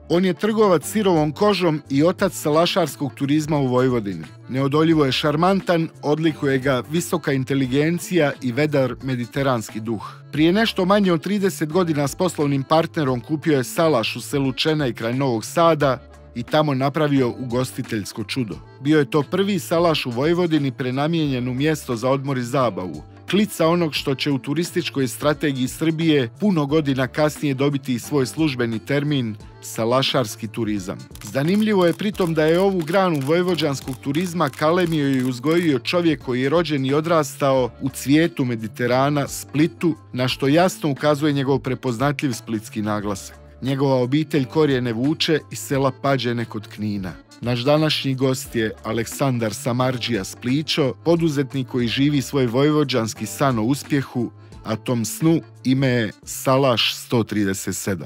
On je trgovac sirovom kožom i otac salašarskog turizma u Vojvodini. Neodoljivo je šarmantan, odlikuje ga visoka inteligencija i vedar mediteranski duh. Prije nešto manje od 30 godina s poslovnim partnerom kupio je salaš u selu Čenej kraj Novog Sada i tamo napravio ugostiteljsko čudo. Bio je to prvi salaš u Vojvodini prenamijenjen u mjesto za odmor i zabavu. Klica onog što će u turističkoj strategiji Srbije puno godina kasnije dobiti i svoj službeni termin salašarski turizam. Zanimljivo je pritom da je ovu granu vojvođanskog turizma kalemio i uzgojio čovjek koji je rođen i odrastao u cvijetu Mediterana, Splitu, na što jasno ukazuje njegov prepoznatljiv splitski naglasak. Njegova obitelj korijene vuče iz sela Pađene kod Knina. Naš današnji gost je Aleksandar Samardžija Splićo, poduzetnik koji živi svoj vojvođanski san o uspjehu, a tom snu ime je Salaš 137.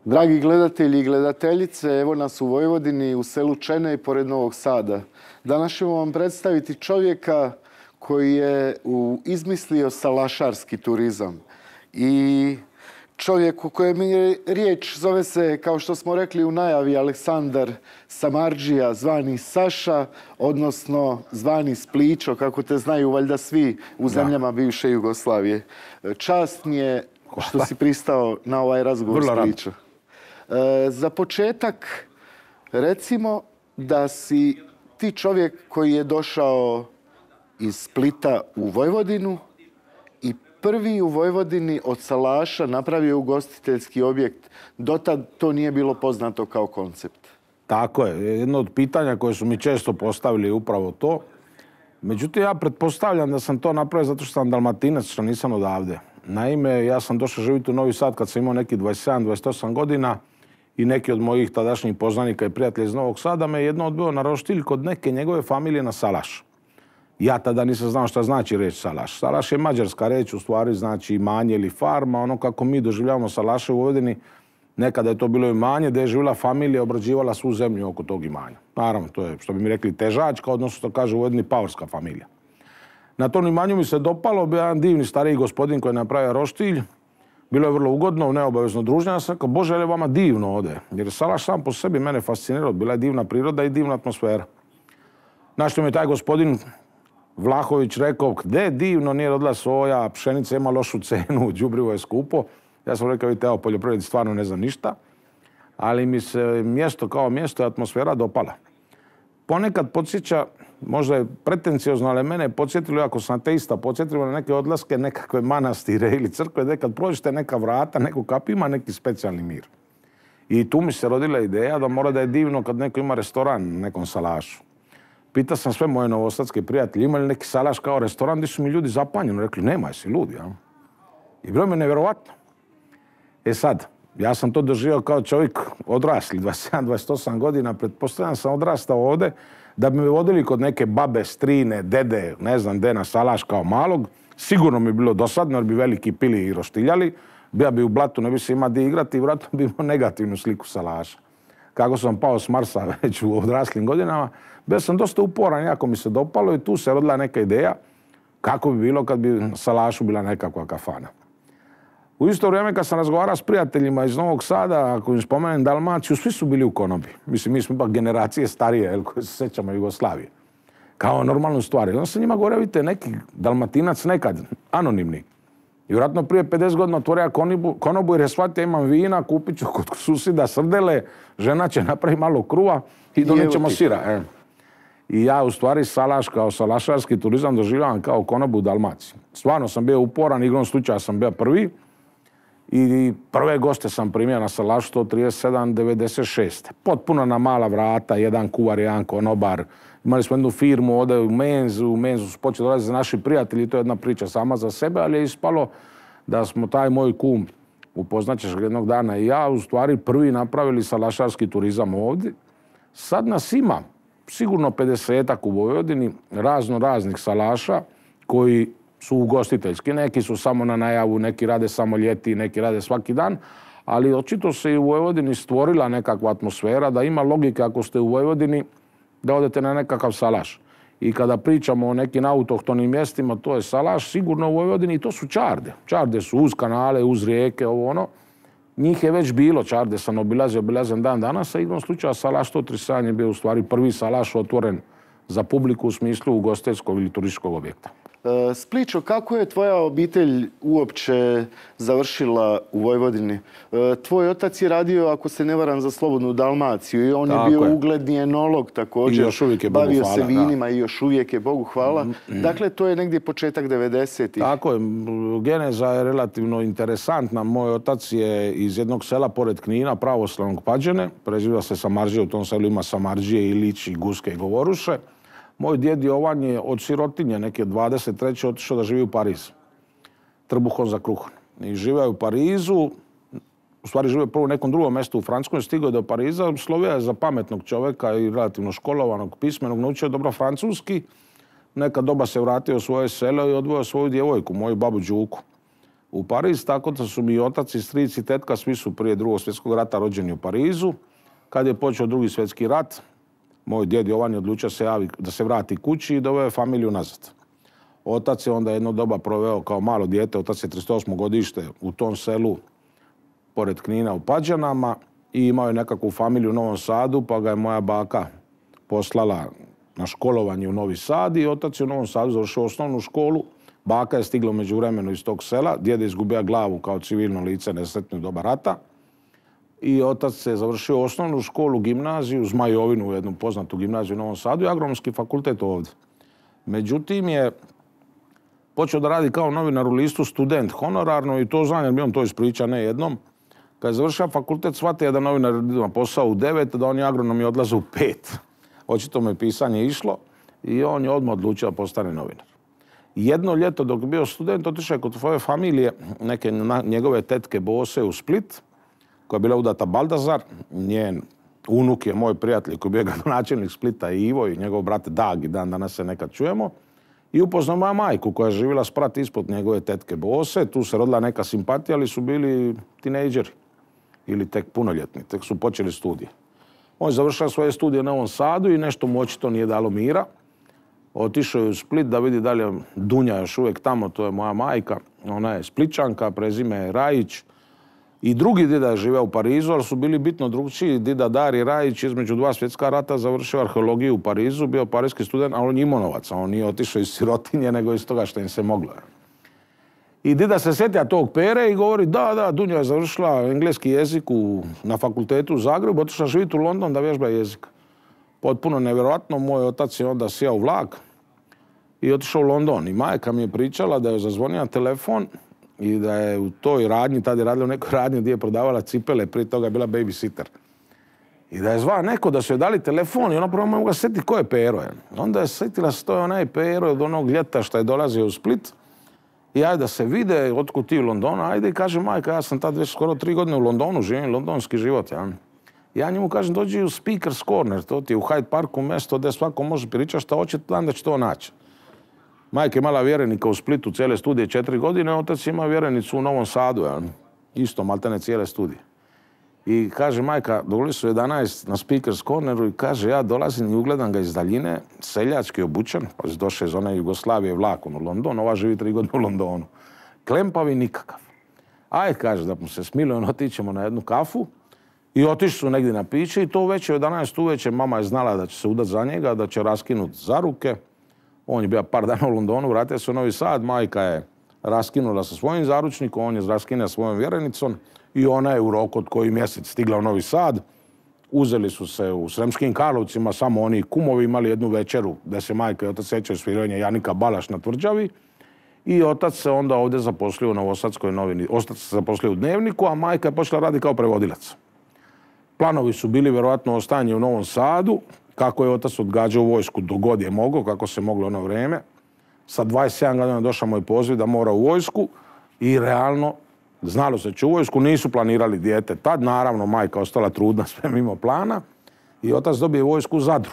Dragi gledatelji i gledateljice, evo nas u Vojvodini, u selu Čenej pored Novog Sada. Danas ćemo vam predstaviti čovjeka koji je izmislio salašarski turizam. I čovjek u kojem je riječ zove se, kao što smo rekli u najavi, Aleksandar Samardžija, zvani Saša, odnosno zvani Splićo, kako te znaju valjda svi u zemljama bivše Jugoslavije. Čast mi je što si pristao na ovaj razgovor, Splićo. Za početak, recimo da si ti čovjek koji je došao iz Splita u Vojvodinu i prvi u Vojvodini od salaša napravio ugostiteljski objekt. Dotad to nije bilo poznato kao koncept. Tako je. Jedno od pitanja koje su mi često postavili je upravo to. Međutim, ja pretpostavljam da sam to napravio zato što sam Dalmatinac, što nisam odavde. Naime, ja sam došao živjeti u Novi Sad kad sam imao neki 27-28 godina i neki od mojih tadašnjih poznanika i prijatelja iz Novog Sada me jedno odbio na roštilj kod neke njegove familije na salaš. Ja tada nisam znao šta znači reč salaš. Salaš je mađarska reč, u stvari znači imanje ili farma. Ono kako mi doživljavamo salaše u Vojvodini, nekada je to bilo imanje gdje je živjela familija, obrađivala svu zemlju oko tog imanja. Naravno, to je, što bi mi rekli, težačka, odnosno što kaže u Vojvodini pavorska familija. Na tom imanju mi se dopalo, bio jedan divni stariji gospodin koji je napravio roštilj. Bilo je vrlo ugodno, neobavezno druženje. Ja sam rekao, Bože, je li vama divno ovdje? Jer je salaš sam po sebi mene fascinirao. Bila je divna priroda i divna atmosfera. Na što mi je taj gospodin Vlahović rekao, gdje divno, nije rodila soja, pšenica ima lošu cenu, đubrivo je skupo. Ja sam rekao, vidite, evo, poljoprivredi stvarno ne znam ništa, ali mi se mjesto kao mjesto i atmosfera dopala. Ponekad podsjeća, možda je pretenciozno, ali mene je podsjetilo, ako sam ateista, podsjetilo na neke odlaske, nekakve manastire ili crkve, gdje kad prođete neka vrata, neko kap ima neki specijalni mir. I tu mi se rodila ideja da mora da je divno kad neko ima restoran na nekom salašu. Pitao sam sve moje novosadske prijatelje, ima li neki salaš kao restoran, gdje su mi ljudi zapanjeni. Rekli, nema, jesi ludi, ja? I bilo mi je nevjerovatno. E sad, ja sam to doživio kao čovjek odrasli, 27-28 godina, pretpostavljam sam odrastao ovdje, da bi me vodili kod neke babe, strine, dede, ne znam gdje na salaš kao malog. Sigurno mi je bilo dosadno jer bi veliki pili i roštiljali. Bija bi u blatu, ne bi se imao di igrati i vratno bi imao negativnu sliku salaša. Kako sam pao s Marsa već u odraslim godinama, bio sam dosta uporan, jako mi se dopalo i tu se rodila neka ideja kako bi bilo kad bi na salašu bila nekakva kafana. U isto vrijeme kad sam razgovarao s prijateljima iz Novog Sada, ako im spomenem Dalmaciju, svi su bili u konobi. Mislim, mi smo ipak generacije starije, koje se sjećamo Jugoslavije. Kao normalnu stvar. Onda sam njima govorio, vidite, neki Dalmatinac nekad, anonimni. I vjerojatno prije 50 godina otvorio konobu jer je shvatio, imam vina, kupit ću kod susjeda srdele, žena će napraviti malo kruva i donećemo sira. I ja u stvari salaš kao salašarski turizam doživljavam kao konobu u Dalmaciji. Stvarno sam bio uporan, igrom slučaja sam bio prvi. I prve goste sam primio na salašu 137-96. Potpuno na mala vrata, jedan kuvar, jedan konobar. Imali smo jednu firmu ovdje u Menzu su počeli dolaziti naši prijatelji, to je jedna priča sama za sebe, ali je ispalo da smo taj moj kum, upoznat ćeš ga jednog dana i ja, u stvari prvi napravili salašarski turizam ovdje. Sad nas ima sigurno 50-ak u Vojvodini raznih salaša koji su ugostiteljski. Neki su samo na najavu, neki rade samo ljeti, neki rade svaki dan, ali očito se i u Vojvodini stvorila nekakva atmosfera da ima logike ako ste u Vojvodini da odete na nekakav salaš. I kada pričamo o nekim autohtonim mjestima, to je salaš, sigurno u Vojvodini i to su čarde. Čarde su uz kanale, uz rijeke, ovo ono. Njih je već bilo, Čarde sam obilazim dan danas, a igrom slučaja Salaš 137 je bio u stvari prvi salaš otvoren za publiku u smislu ugostiteljskog ili turističkog objekta. Splićo, kako je tvoja obitelj uopće završila u Vojvodini? Tvoj otac je radio, ako se ne varam, za Slobodnu Dalmaciju i on je bio ugledni enolog također. I još uvijek je, Bogu hvala. Bavio se vinima i još uvijek je, Bogu hvala. Dakle, to je negdje početak 90-ih. Tako je. Geneza je relativno interesantna. Moj otac je iz jednog sela pored Knina, pravoslavnog Pađene. Preziva se Samardžije, u tom selu ima Samardžije, Ilić, i Guske i Govoruše. Moj djed Jovan je od sirotinje, neke 23. otišao da živi u Pariz. Trbuhom za kruhom. I živio je u Parizu, u stvari živio prvo u nekom drugom mjestu u Francuskoj, stigao je do Pariza, slovio je za pametnog čovjeka i relativno školovanog, pismenog, naučio dobro francuski. Neka doba se vratio u svoje selo i odvojio svoju djevojku, moju babu Đuku, u Pariz. Tako da su mi otac i stric i tetka, svi su prije Drugog svjetskog rata rođeni u Parizu. Kad je počeo Drugi svjetski rat, moj djed Jovan je odlučio da se vrati kući i doveo familiju nazad. Otac je onda jedno doba proveo kao malo dijete, otac je 38. godište u tom selu pored Knina u Pađanama i imao je nekakvu familiju u Novom Sadu, pa ga je moja baka poslala na školovanje u Novi Sad i otac je u Novom Sadu završio osnovnu školu. Baka je stigla u međuvremenu iz tog sela, djed je izgubio glavu kao civilno lice nesretno u doba rata. I otac se završio osnovnu školu, gimnaziju, Zmajovinu, jednu poznatu gimnaziju u Novom Sadu i Agronomski fakultet ovdje. Međutim je počeo da radi kao novinar u listu Student honorarno i to znam jer bi on to ispričao ne jednom. Kad je završio fakultet shvatio da novinar ima posao u 9, da oni agronomi odlaze u 5. Očito mu je pisanje išlo i on je odmah odlučio da postane novinar. Jedno ljeto dok je bio student otišao je kod svoje familije, neke njegove tetke Bose u Split, koja je bila udata Baldazar, njen unuk je moj prijatelj koji je bio gradonačelnik Splita Ivo i njegov brat Dag i dan danas se nekad čujemo. I upoznao moja majku koja je živjela sprat ispod njegove tetke Bose, tu se rodila neka simpatija, ali su bili tinejdžeri ili tek punoljetni, tek su počeli studije. On je završio svoje studije na Novom Sadu i nešto mu očito nije dalo mira. Otišao je u Split da vidi da li je Dunja još uvijek tamo, to je moja majka, ona je Spličanka, prezime je Rajić. I drugi dida je živeo u Parizu, ali su bili bitno drugčiji. Dida Dari Rajić između 2 svjetska rata završio arheologiju u Parizu, bio parijski student, ali on je imao novac. On nije otišao iz sirotinje, nego iz toga što im se moglo. I dida se sjetija tog Pere i govori da, Dunja je završila engleski jezik na fakultetu u Zagrebu, otišla živjeti u London da vježba jezik. Potpuno nevjerojatno, moj otac je onda sjeo u vlak i otišao u London. I majka mi je pričala da je zazvonio telefon i da je u toj radnji, tada je radila u nekoj radnji gdje je prodavala cipele, prije toga je bila babysitter. I da je zvao neko da su joj dali telefon i ona prvo mogla sjetiti ko je Pero. Onda je sjetila se to je onaj Pero od onog ljeta što je dolazio u Split. I ajde da se vide, otkud ti u Londonu, ajde i kaže majka, ja sam tad već skoro 3 godine u Londonu, živim londonski život. Ja njemu kažem, dođi u Speaker's Corner, to ti je u Hyde Parku mjesto gdje svako može pričati šta hoće, da će to naći. Majka je imala vjerenika u Splitu cijele studije 4 godine, otac ima vjerenicu u Novom Sadu, isto maltene cijele studije. I kaže majka, došli su 11 na Speaker's Corneru i kaže ja dolazim i ugledam ga iz daljine, seljački obučen, pa došao iz one Jugoslavije vlakom u London, ova živi 3 godine u Londonu. Klempavi nikakav. Ajde, kaže, da mu se smiluje, otićemo na jednu kafu i otišli su negdje na piće i to već u 11 uveče mama je znala da će se udati za njega, da će raskinuti za ruke. On je bio par dana u Londonu, vratio se u Novi Sad, majka je raskinula sa svojim zaručnikom, on je raskinuo svojom vjerenicom i ona je u roku od koji mjesec stigla u Novi Sad. Uzeli su se u Sremskim Karlovcima, samo oni kumovi imali jednu večeru da se majka i otac sjećaju sviranja Janika Balaš na Tvrđavi i otac se onda ovdje zaposlio u Novosadskoj novini. Otac se zaposlio u Dnevniku, a majka je počela raditi kao prevodilac. Planovi su bili vjerojatno ostajanje u Novom Sadu, kako je otac odgađao vojsku dogod je mogao, kako se moglo ono vrijeme. Sa 27 godina došao moj poziv da mora u vojsku i realno znalo se će u vojsku, nisu planirali dijete. Tad naravno majka ostala trudna sve mimo plana i otac dobije vojsku u Zadru.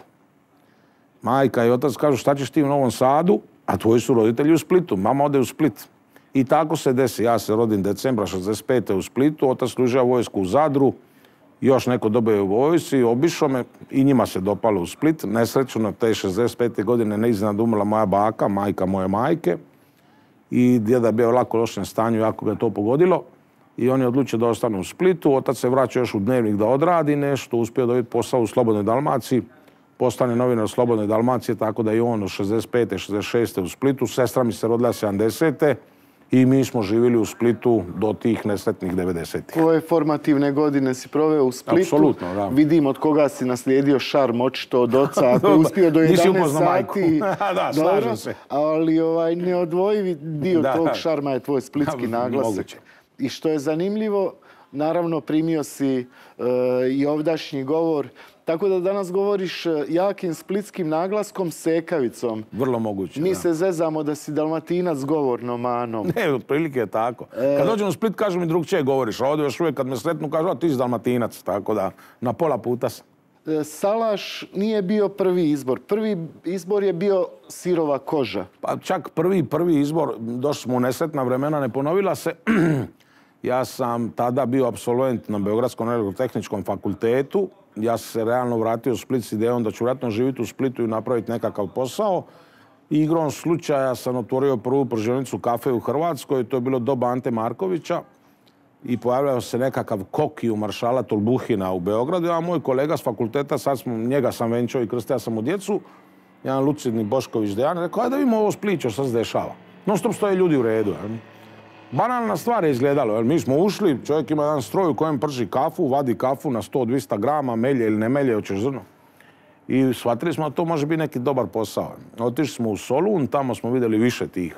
Majka i otac kažu šta ćeš ti u Novom Sadu, a tvoji su roditelji u Splitu, mama ode u Split. I tako se desi, ja se rodim decembra 65. u Splitu, otac služio vojsku u Zadru, još neko dobio u vojsci, obišao me i njima se dopalo u Split. Nesrećno te 65. godine neiznenada umrla moja baka, majka moje majke. I djeda je bio u lako lošem stanju, jako ga je to pogodilo. i on je odlučio da ostane u Splitu. Otac se vraća još u Dnevnik da odradi nešto, uspio dobiti posao u Slobodnoj Dalmaciji, postane novinar Slobodne Dalmacije, tako da je on od 65. 66. u Splitu. Sestra mi se rodila 70. i mi smo živjeli u Splitu do tih nesretnih 90. Koje formativne godine si proveo u Splitu? Apsolutno, da. Vidim od koga si naslijedio šarm, očito od oca, ako je uspio do 11 sati. Da, slažem se. Ali neodvojivi dio tog šarma je tvoj splitski naglasak. I što je zanimljivo, naravno primio si i ovdašnji govor, tako da danas govoriš jakim splitskim naglaskom, sekavicom. Vrlo moguće. Mi se zezamo da si Dalmatinac govornom manom. Ne, otprilike je tako. Kad dođem u Split, kažu mi drugčije govoriš, a ovdje još uvijek kad me sretnu kažu, a ti si Dalmatinac, tako da na pola puta sam. Salaš nije bio prvi izbor. Prvi izbor je bio Sirova koža. Pa čak prvi izbor, došli smo u nesretna vremena, ne ponovila se. Ja sam tada bio apsolvent na Beogradskom elektrotehničkom fakultetu. Ja sam se realno vratio u Split s idejom da ću vjerojatno živjeti u Splitu i napraviti nekakav posao. I igrom slučaja sam otvorio prvu pržionicu kafe u Hrvatskoj. To je bilo doba Ante Markovića. I pojavljao se nekakav koki u maršala Tolbuhina u Beogradu. Ja, moj kolega s fakulteta, njega sam venčao i krstio sam u djecu, jedan lucidni Bošković Dejan, rekao, ajde da vidimo ovo Split, što se dešava. Non stop stoje ljudi u redu. Banalna stvar je izgledalo. Mi smo ušli, čovjek ima jedan stroj u kojem prži kafu, vadi kafu na 100-200 grama, melje ili ne melje, hoćeš zrno. I shvatili smo da to može biti neki dobar posao. Otišli smo u Solun, tamo smo vidjeli više tih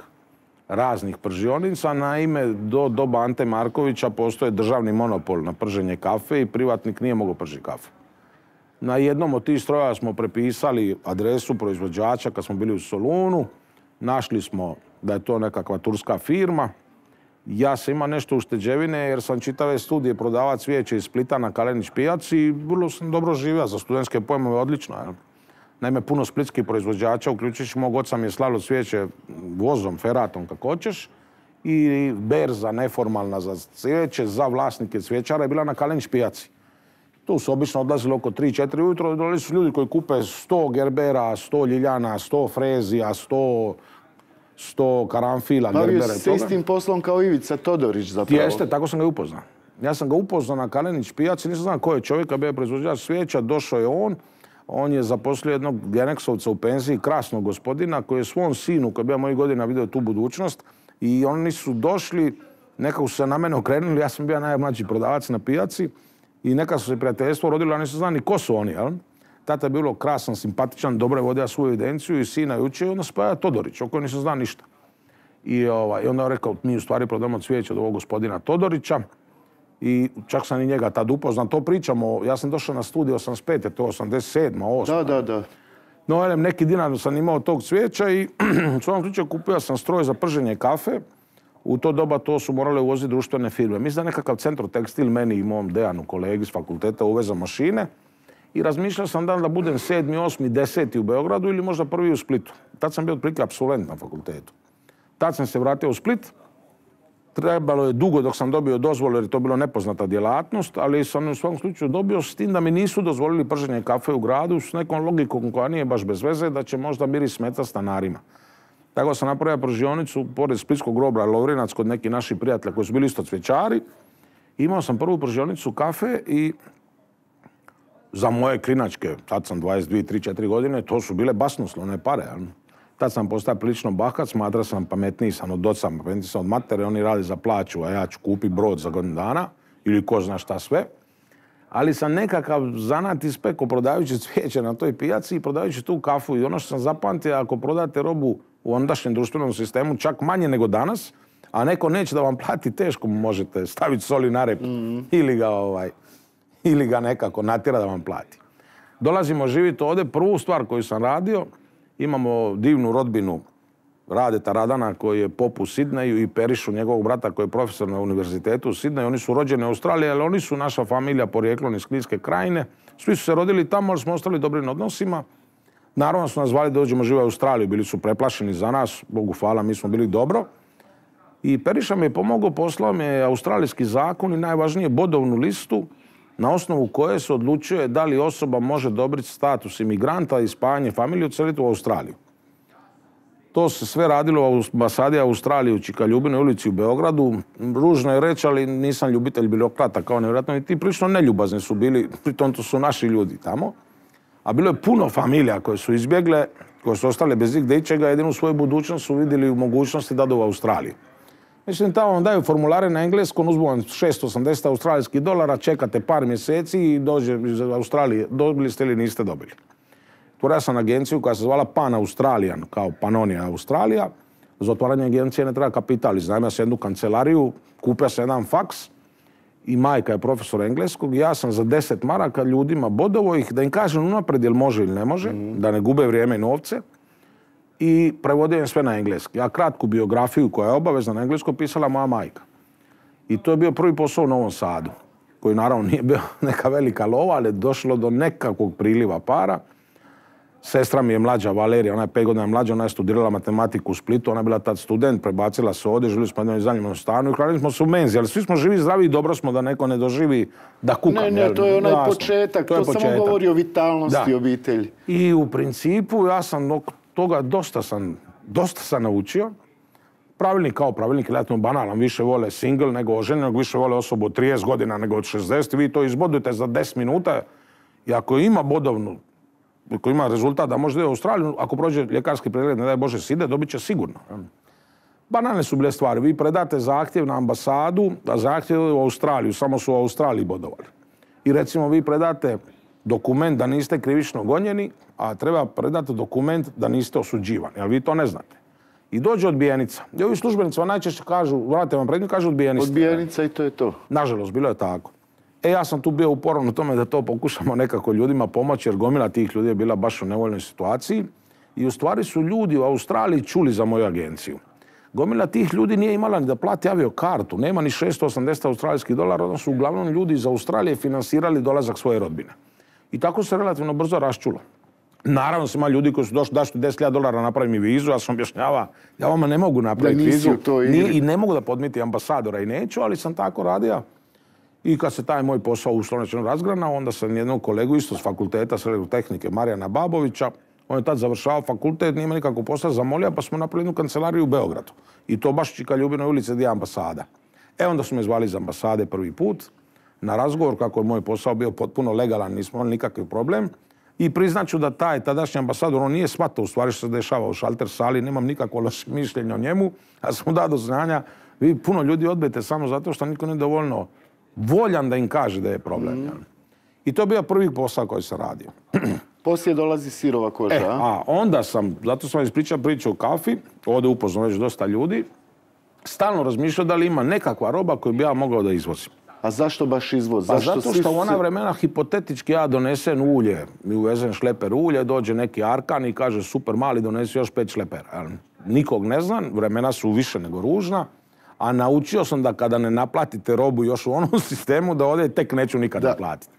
raznih pržionica. Naime, do doba Ante Markovića postoje državni monopol na prženje kafe i privatnik nije mogao pržiti kafu. Na jednom od tih stroja smo prepisali adresu proizvođača kad smo bili u Solunu. Našli smo da je to nekakva turska firma. Ja sam imao nešto ušteđevine jer sam čitave studije prodavao cvijeće iz Splita na Kalenić pijaci i vrlo sam dobro živio. Za studentske pojmove odlično. Naime, puno splitskih proizvođača, uključujući mog oca, mi je slalo cvijeće vozom, feratom, kako hoćeš. I berza neformalna za cvijeće, za vlasnike cvijećara je bila na Kalenić pijaci. Tu su obično odlazili oko 3-4 ujutro, dolazili su ljudi koji kupe 100 gerbera, 100 ljiljana, 100 frezija, 100 karanfila, gerbera. Bavio si se istim poslom kao Ivica Todorić zapravo. Jeste, tako sam ga upoznao. Ja sam ga upoznao na Kalenić pijaci, nisam znao ko je čovjek, bio je proizvođač cvijeća, došao je on. On je zaposlio jednog Geneksovca u penziji, krasnog gospodina, koji je svom sinu, koji je bio mojih godina, vidio tu budućnost. I oni su došli, nekako su se na mene okrenuli, ja sam bio najmlađi prodavac na pijaci. I neka su se prijateljstvo rodilo, a nisu znali ni ko su oni, jel? Tata je bilo krasan, simpatičan, dobro je vodio svoju evidenciju i sina je učio i onda spaja Todorić, o kojem nisam znao ništa. I onda je rekao, mi u stvari prodamo cvijeće od ovog gospodina Todorića. I čak sam i njega tad upoznao. To pričamo, ja sam došao na studij 85. To je 87. 8. Da. No, neki dinar sam imao tog cvijeća i u svom slučaju kupio sam stroj za prženje kafe. U to doba to su morale uvoziti društvene firme. Mislim da nekakav Centrotekstil meni i mom Dejanu, kolegi s fakulteta, uveza mašine. I razmišljao sam da budem 7., 8., 10. u Beogradu ili možda prvi u Splitu. Tad sam bio otprilike apsolvent na fakultetu. Tad sam se vratio u Split. Trebalo je dugo dok sam dobio dozvolu jer je to bilo nepoznata djelatnost, ali sam u svom slučaju dobio s tim da mi nisu dozvolili prženje kafe u gradu s nekom logikom koja nije baš bez veze, da će možda miris smetati stanarima. Tako sam napravio pržionicu pored splitskog groblja Lovrinac kod neki naši prijatelja koji su bili isto cvjećari. Imao sam prvu pržionicu kafe i za moje klinačke, tad sam 22, 3, 4 godine, to su bile basnoslovne pare. Tad sam postao prilično bahat, smatrao sam pametniji sam od oca, pametniji sam od matere, oni radi za plaću, a ja ću kupiti brod za godinu dana ili ko zna šta sve. Ali sam nekakav zanat ispekao prodajući cvijeće na toj pijaci i prodajući tu kafu. I ono što sam zapamtio, ako prodate robu u ondašnjem društvenom sistemu čak manje nego danas, a neko neće da vam plati, teško mu možete staviti soli na rep ili ga nekako natjera da vam plati. Dolazimo živjeti ovdje. Prvu stvar koju sam radio, imamo divnu rodbinu Radeta Radana koji je pop u Sidneju i Perišu, njegovog brata koji je profesor na univerzitetu u Sidneju. Oni su rođeni u Australiji, ali oni su naša familija porijeklom iz Kninske krajine. Svi su se rodili tamo, ali smo ostali dobrim odnosima. Naravno su nas zvali da dođemo živjeti u Australiju, bili su preplašeni za nas, Bogu hvala, mi smo bili dobro. I Periša mi je pomogao, poslao mi je australijski zakon i najvažnije bodovnu listu na osnovu koje se odlučuje da li osoba može dobiti status imigranta i spajanje familije odseliti u Australiju. To se sve radilo u ambasadi Australije u Čikaljubinoj ulici u Beogradu. Ružno je reći, ali nisam ljubitelj birokrata kao nevjerojatno. I ti prilično neljubazni su bili, pritom to su naši ljudi tamo. A bilo je puno familija koje su izbjegle, koje su ostale bez igdje ičega, jedinu svoju budućnost su vidjeli u mogućnosti da u Australiju. Mislim, tamo vam daju formulare na engleskom, uzmu vam 680 australijskih dolara, čekate par mjeseci i dođe iz Australije. Dobili ste ili niste dobili. Otvorio sam agenciju koja se zvala Pan Australijan, kao Panonija Australija. Za otvaranje agencije ne treba kapital. Iznajmio sam jednu kancelariju, kupio sam jedan faks i majka je profesor engleskog. Ja sam za 10 maraka ljudima bodovo ih, da im kažem unaprijed jel može ili ne može, da ne gube vrijeme i novce. I prevodio im sve na engleski. Ja kratku biografiju koja je obavezna na engleskom pisala moja majka. I to je bio prvi posao u Novom Sadu, koji naravno nije bio neka velika lova, ali je došlo do nekakvog priliva para. Sestra mi je mlađa, Valerija, ona je 5 godina mlađa, ona je studirala matematiku u Splitu, ona je bila tad student, prebacila se ovdje, živjeli smo jednom iznajmljenom stanu i hranili smo se u menzi, ali svi smo živi, zdravi i dobro smo da neko ne doživi da kukam. Ne, to je onaj početak, to samo govori o vitalnosti obitelji. I u principu ja sam od toga dosta sam naučio. Pravilnik kao pravilnik, relativno banalan, više vole single nego oženjenog, više vole osobu od 30 godina nego od 60, vi to izbodujete za 10 minuta i ako ima bodovnu, ako ima rezultat da može da je u Australiju, ako prođe ljekarski pregled, ne daj Bože side, dobit će sigurno. Banalne su bile stvari. Vi predate zahtjev na ambasadu, a zahtjev u Australiju, samo su u Australiji bodovali. I recimo vi predate dokument da niste krivično gonjeni, a treba predati dokument da niste osuđivani, ali vi to ne znate. I dođe odbijenica. I ovi službenicima najčešće kažu, vrate vam predmet, kažu odbijenica. Odbijenica i to je to. Nažalost, bilo je tako. Ja sam tu bio uporan u tome da to pokušamo nekako ljudima pomoći, jer gomila tih ljudi je bila baš u nevoljnoj situaciji. I u stvari su ljudi u Australiji čuli za moju agenciju. Gomila tih ljudi nije imala ni da plati aviokartu, nema ni 680 australijskih dolara, onda su uglavnom ljudi iz Australije finansirali dolazak svoje rodbine. I tako se relativno brzo raščulo. Naravno ima ljudi koji su došli da ću $10.000 napravi mi vizu, ja sam objašnjava, ja vama ne mogu napraviti vizu i ne mogu da podmiti ambasadora i neću, ali sam tako radio. I kad se taj moj posao uslovno razgranao, onda sam jednog kolegu isto s fakulteta srednje tehnike, Marijana Babovića, on je tad završavao fakultet, nije nikako posao, zamolio, pa smo napravili jednu kancelariju u Beogradu. I to baš u Čikaljubinoj ulici gdje je ambasada. Onda su me zvali iz ambasade prvi put na razgovor, kako je moj posao bio potpuno legalan, nismo imali nikakav problem. I priznaću da taj tadašnji ambasador, on nije shvatao u stvari što se dešava u šalter sali, nemam nikakvo loše mišljenje o njemu, a sam dao do znanja, vi puno ljudi odbijete samo zato što niko nije dovoljno voljan da im kaže da je problem. I to je bio prvi posao koji sam radio. Poslije dolazi sirova koža, a onda sam, zato sam ispričao priču o kafi, ovdje upoznao već dosta ljudi, stalno razmišljao da li ima nekakva roba koju bi ja mogao da izvozim. A zašto baš izvoz? Pa zato što u ona vremena hipotetički ja donesem ulje, mi uvezem šleper ulje, dođe neki Arkan i kaže super mali donesi još 5 šlepera. Nikog ne znam, vremena su više nego ružna, a naučio sam da kada ne naplatite robu još u onom sistemu, da ovdje tek neću nikad naplatiti.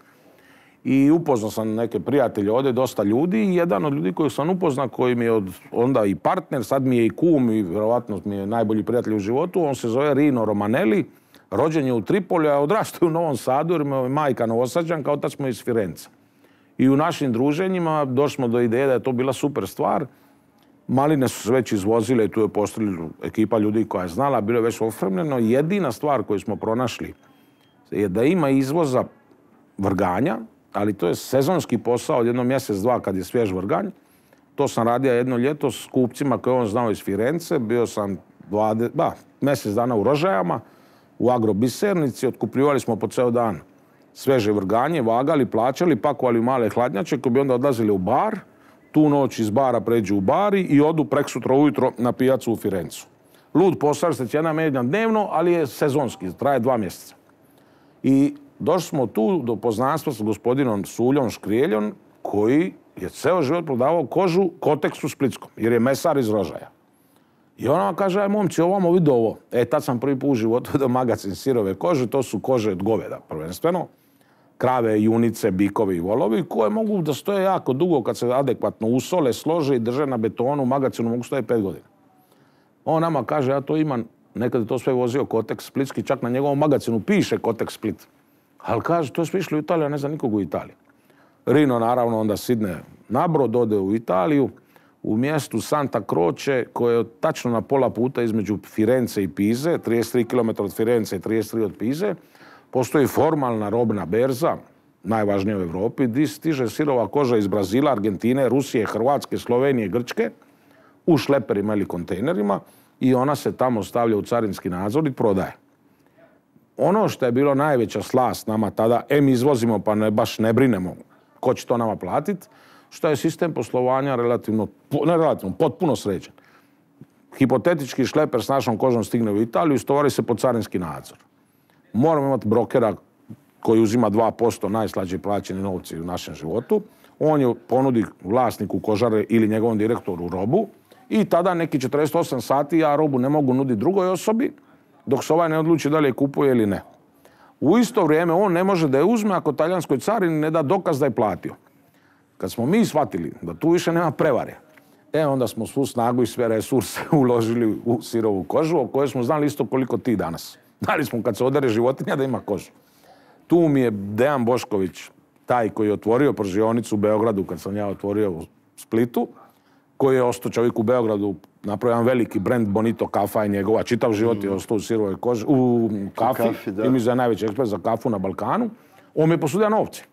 I upoznao sam neke prijatelje ovdje, dosta ljudi, i jedan od ljudi koji sam upoznao, koji mi je onda i partner, sad mi je i kum i vjerovatno mi je najbolji prijatelj u životu, on se zove Rino Romanelli, rođen je u Tripolju, a odrastao u Novom Sadu jer je majka Novosađanka, otac smo iz Firenze. I u našim druženjima došli smo do ideje da je to bila super stvar. Maline su se već izvozile i tu je postavila ekipa ljudi koja je znala, bilo je već opremljeno. Jedina stvar koju smo pronašli je da ima izvoza vrganja, ali to je sezonski posao od jedno mjesec, dva kad je svjež vrganj. To sam radio jedno ljeto s kupcima koje on znao iz Firence. Bio sam mjesec dana u Rožajama, u agrobisernici, otkupljivali smo po ceo dan sveže vrganje, vagali, plaćali, pakovali u male hladnjače koji bi onda odlazili u bar, tu noć iz bara pređu u bari i odu preksutra ujutro na pijacu u Firencu. Lud posao, se cijena menja dnevno, ali je sezonski, traje 2 mjeseca. I došli smo tu do poznanstva s gospodinom Suljom Škrijeljom, koji je ceo život prodavao kožu Koteksu Splitskom, jer je mesar iz Rožaja. I ona vam kaže, aj momci, ovamo vidi ovo. Tad sam prvi put u životu do magazin sirove kože, to su kože od goveda prvenstveno. Krave, junice, bikovi i volovi, koje mogu da stoje jako dugo kad se adekvatno usole, slože i drže na betonu, u magazinu mogu stoje 5 godina. On nama kaže, ja to imam, nekad je to sve vozio Koteks Splitski, čak na njegovom magazinu piše Koteks Split. Ali kaže, to smo išli u Italiju, a ne znam nikog u Italiji. Rino naravno onda sidne na brod, ode u Italiju, u mjestu Santa Croce, koje je tačno na pola puta između Firence i Pize, 33 km od Firence i 33 od Pize, postoji formalna robna berza, najvažnija u Europi, gdje stiže sirova koža iz Brazila, Argentine, Rusije, Hrvatske, Slovenije, Grčke, u šleperima ili kontejnerima i ona se tamo stavlja u carinski nadzor i prodaje. Ono što je bilo najveća slast nama tada, izvozimo pa baš ne brinemo ko će to nama platiti, što je sistem poslovanja potpuno sređen. Hipotetički šleper s našom kožom stigne u Italiju i stovari se pod carinski nadzor. Moramo imati brokera koji uzima 2% najslađe plaćeni novci u našem životu. On je ponudi vlasniku kožare ili njegovom direktoru robu i tada neki 48 sati ja robu ne mogu nuditi drugoj osobi dok se ovaj ne odluči da li je kupuje ili ne. U isto vrijeme on ne može da je uzme ako talijanskoj carini ne da dokaz da je platio. Kad smo mi shvatili da tu više nema prevare, onda smo svu snagu i sve resurse uložili u sirovu kožu, o kojoj smo znali isto koliko ti danas. Znali smo kad se odere životinja da ima kožu. Tu mi je Dejan Bošković, taj koji je otvorio pržionicu u Beogradu kad sam ja otvorio u Splitu, koji je ostao čovjek u Beogradu, napravio jedan veliki brand Bonito kafa i njegova, čitav život je ostao u sirovoj koži, u kafi, i mi je najveći ekspert za kafu na Balkanu. On mi je posudio novce.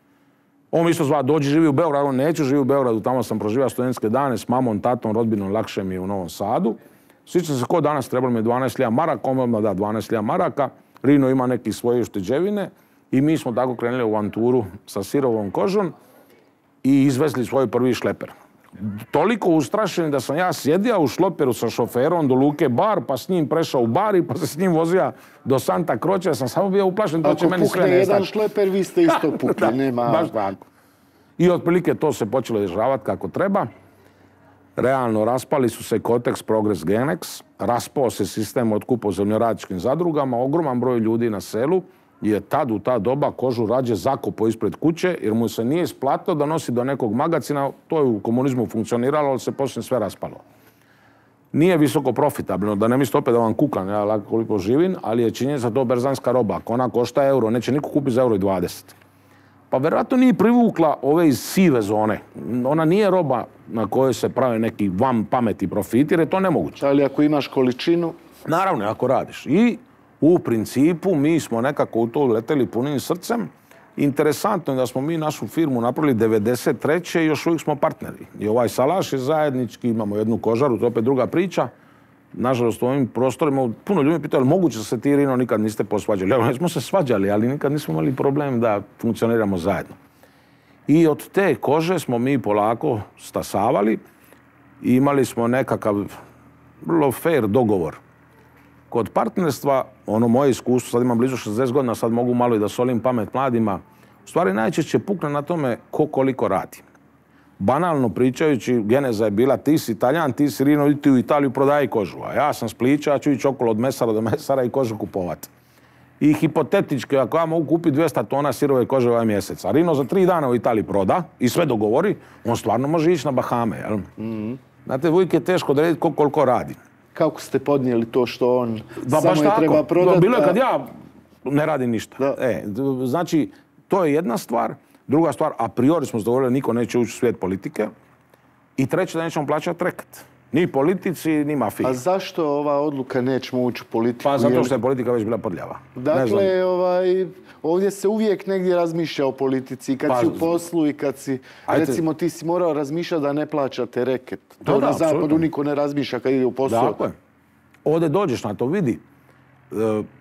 On mi isto zva, dođi živi u Beogradu, on neću živi u Beogradu, tamo sam proživio studentske dane s mamom, tatom, rodbinom, lakše mi je u Novom Sadu. Sjećam se ko danas, trebalo mi je 12.000 maraka, on me da 12.000 maraka, Rino ima neke svoje ušteđevine i mi smo tako krenuli u avanturu sa sirovom kožom i izvezli svoj prvi šleper. Toliko ustrašeni da sam ja sjedio u šleperu sa šoferom do Luke Bar, pa s njim prešao u bar i pa se s njim vozio do Santa Croce, ja sam samo bio uplašen, to će meni sve nestati. Ako pukne jedan šleper, vi ste isto pukli, nema... Baš tako. I otprilike to se počelo dešavati kako treba. Realno, raspali su se Kotex, Progres, Genex, raspao se sistem otkupa u zemljoradničkim zadrugama, ogroman broj ljudi na selu je tad u ta doba kožu rađe zakopao ispred kuće jer mu se nije isplatilo da nosi do nekog magacina, to je u komunizmu funkcioniralo, ali se poslije sve raspalo. Nije visoko profitabilno, da ne mislite opet da vam kukam, ja lako koliko živim, ali je činjenica to berzanska roba. Ako ona košta euro, neće niko kupiti za €1,20. Pa vjerojatno nije privukla ove iz sive zone. Ona nije roba na kojoj se prave neki vam pameti profiti, jer je to nemoguće. Ali ako imaš količinu... Naravno, ako radiš. I u principu mi smo nekako u to uleteli punim srcem. Interesantno je da smo mi našu firmu napravili 1993. i još uvijek smo partneri. I ovaj salaš je zajednički, imamo jednu kožaru, to je opet druga priča. Nažalost, u ovim prostorima puno ljudi pitali, moguće da se ti, Rino, nikad niste posvađali. Evo, smo se svađali, ali nikad nismo imali problem da funkcioniramo zajedno. I od te kože smo mi polako stasavali i imali smo nekakav vrlo fair dogovor. Kod partnerstva, ono moje iskustvo, sad imam blizu 60 godina, sad mogu malo i da solim pamet mladima, u stvari najčešće pukne na tome ko koliko radi. Banalno pričajući, geneza je bila ti si Italijan, ti si Rino, ti u Italiju prodaji kožu, a ja sam Splića, ja ću ići okolo od mesara do mesara i kožu kupovati. I hipotetički, ako ja mogu kupiti 200 tona sirove kože ovaj mjesec, a Rino za 3 dana u Italiji proda i sve dogovori, on stvarno može ići na Bahame, jel? Znate, uvijek je teško da vidjeti koliko radi. Kako ste podnijeli to što on samo je treba prodati? Bilo je kad ja ne radim ništa. Znači, to je jedna stvar. Druga stvar, a priori smo dogovorili niko neće ući u svijet politike. I treće, da nećemo plaćati reket. Ni politici, ni mafiji. A zašto ova odluka nećemo ući u politiku? Pa zato što je politika već bila prljava. Dakle, ovdje se uvijek negdje razmišlja o politici. Kad si u poslu i kad si, recimo, ti si morao razmišljati da ne plaćate reket. To na zapadu niko ne razmišlja kad ide u poslu. Dakle, ovdje dođeš na to, vidi.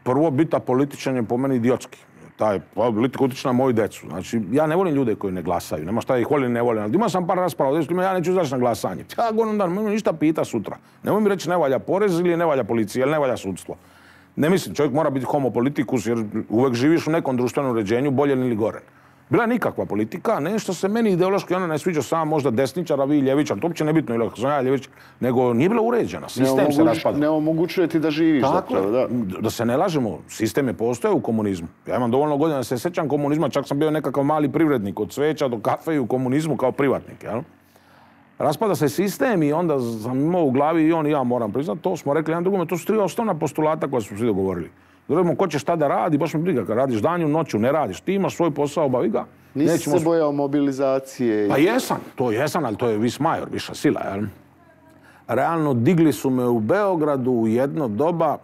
Prvo, biti političan je po meni idiotski. Taj politika utječe na moju decu. Znači, ja ne volim ljude koji ne glasaju. Nema šta ih volim, ne volim. Imao sam par rasprava, ja neću izaći na glasanje. Ja govorim da nemoj ništa pita sutra. Nemoj mi reći ne valja porez ili ne valja policija ili ne valja sudstvo. Ne mislim, čovjek mora biti homopolitikus jer uvijek živiš u nekom društvenom uređenju, bolje ili gore. Bila je nikakva politika, nešto se meni ideološki ona ne sviđa sama možda desničar, a vi ljevičar, to uopće nebitno ili ako sam ja ljevičar, nego nije bila uređena, sistem se raspada. Ne omogućuje ti da živiš. Tako, da se ne lažemo, sistem je postojao u komunizmu. Ja imam dovoljno godina da se sjećam komunizma, čak sam bio nekakav mali privrednik, od cveća do kafe i u komunizmu kao privatnik, jel? Raspada se sistem i onda sam imao u glavi i on i ja moram priznati, to smo rekli jedan drugome, to su 3 osnovna postulata koja smo svi dogovorili. Govorimo ko će šta da radi, baš me briga, kad radiš danju, noću, ne radiš, ti imaš svoj posao, obavi ga. Nisi se bojao mobilizacije? Pa jesam, ali to je vis major, viša sila, jel? realno digli su me u Beogradu u jedno doba.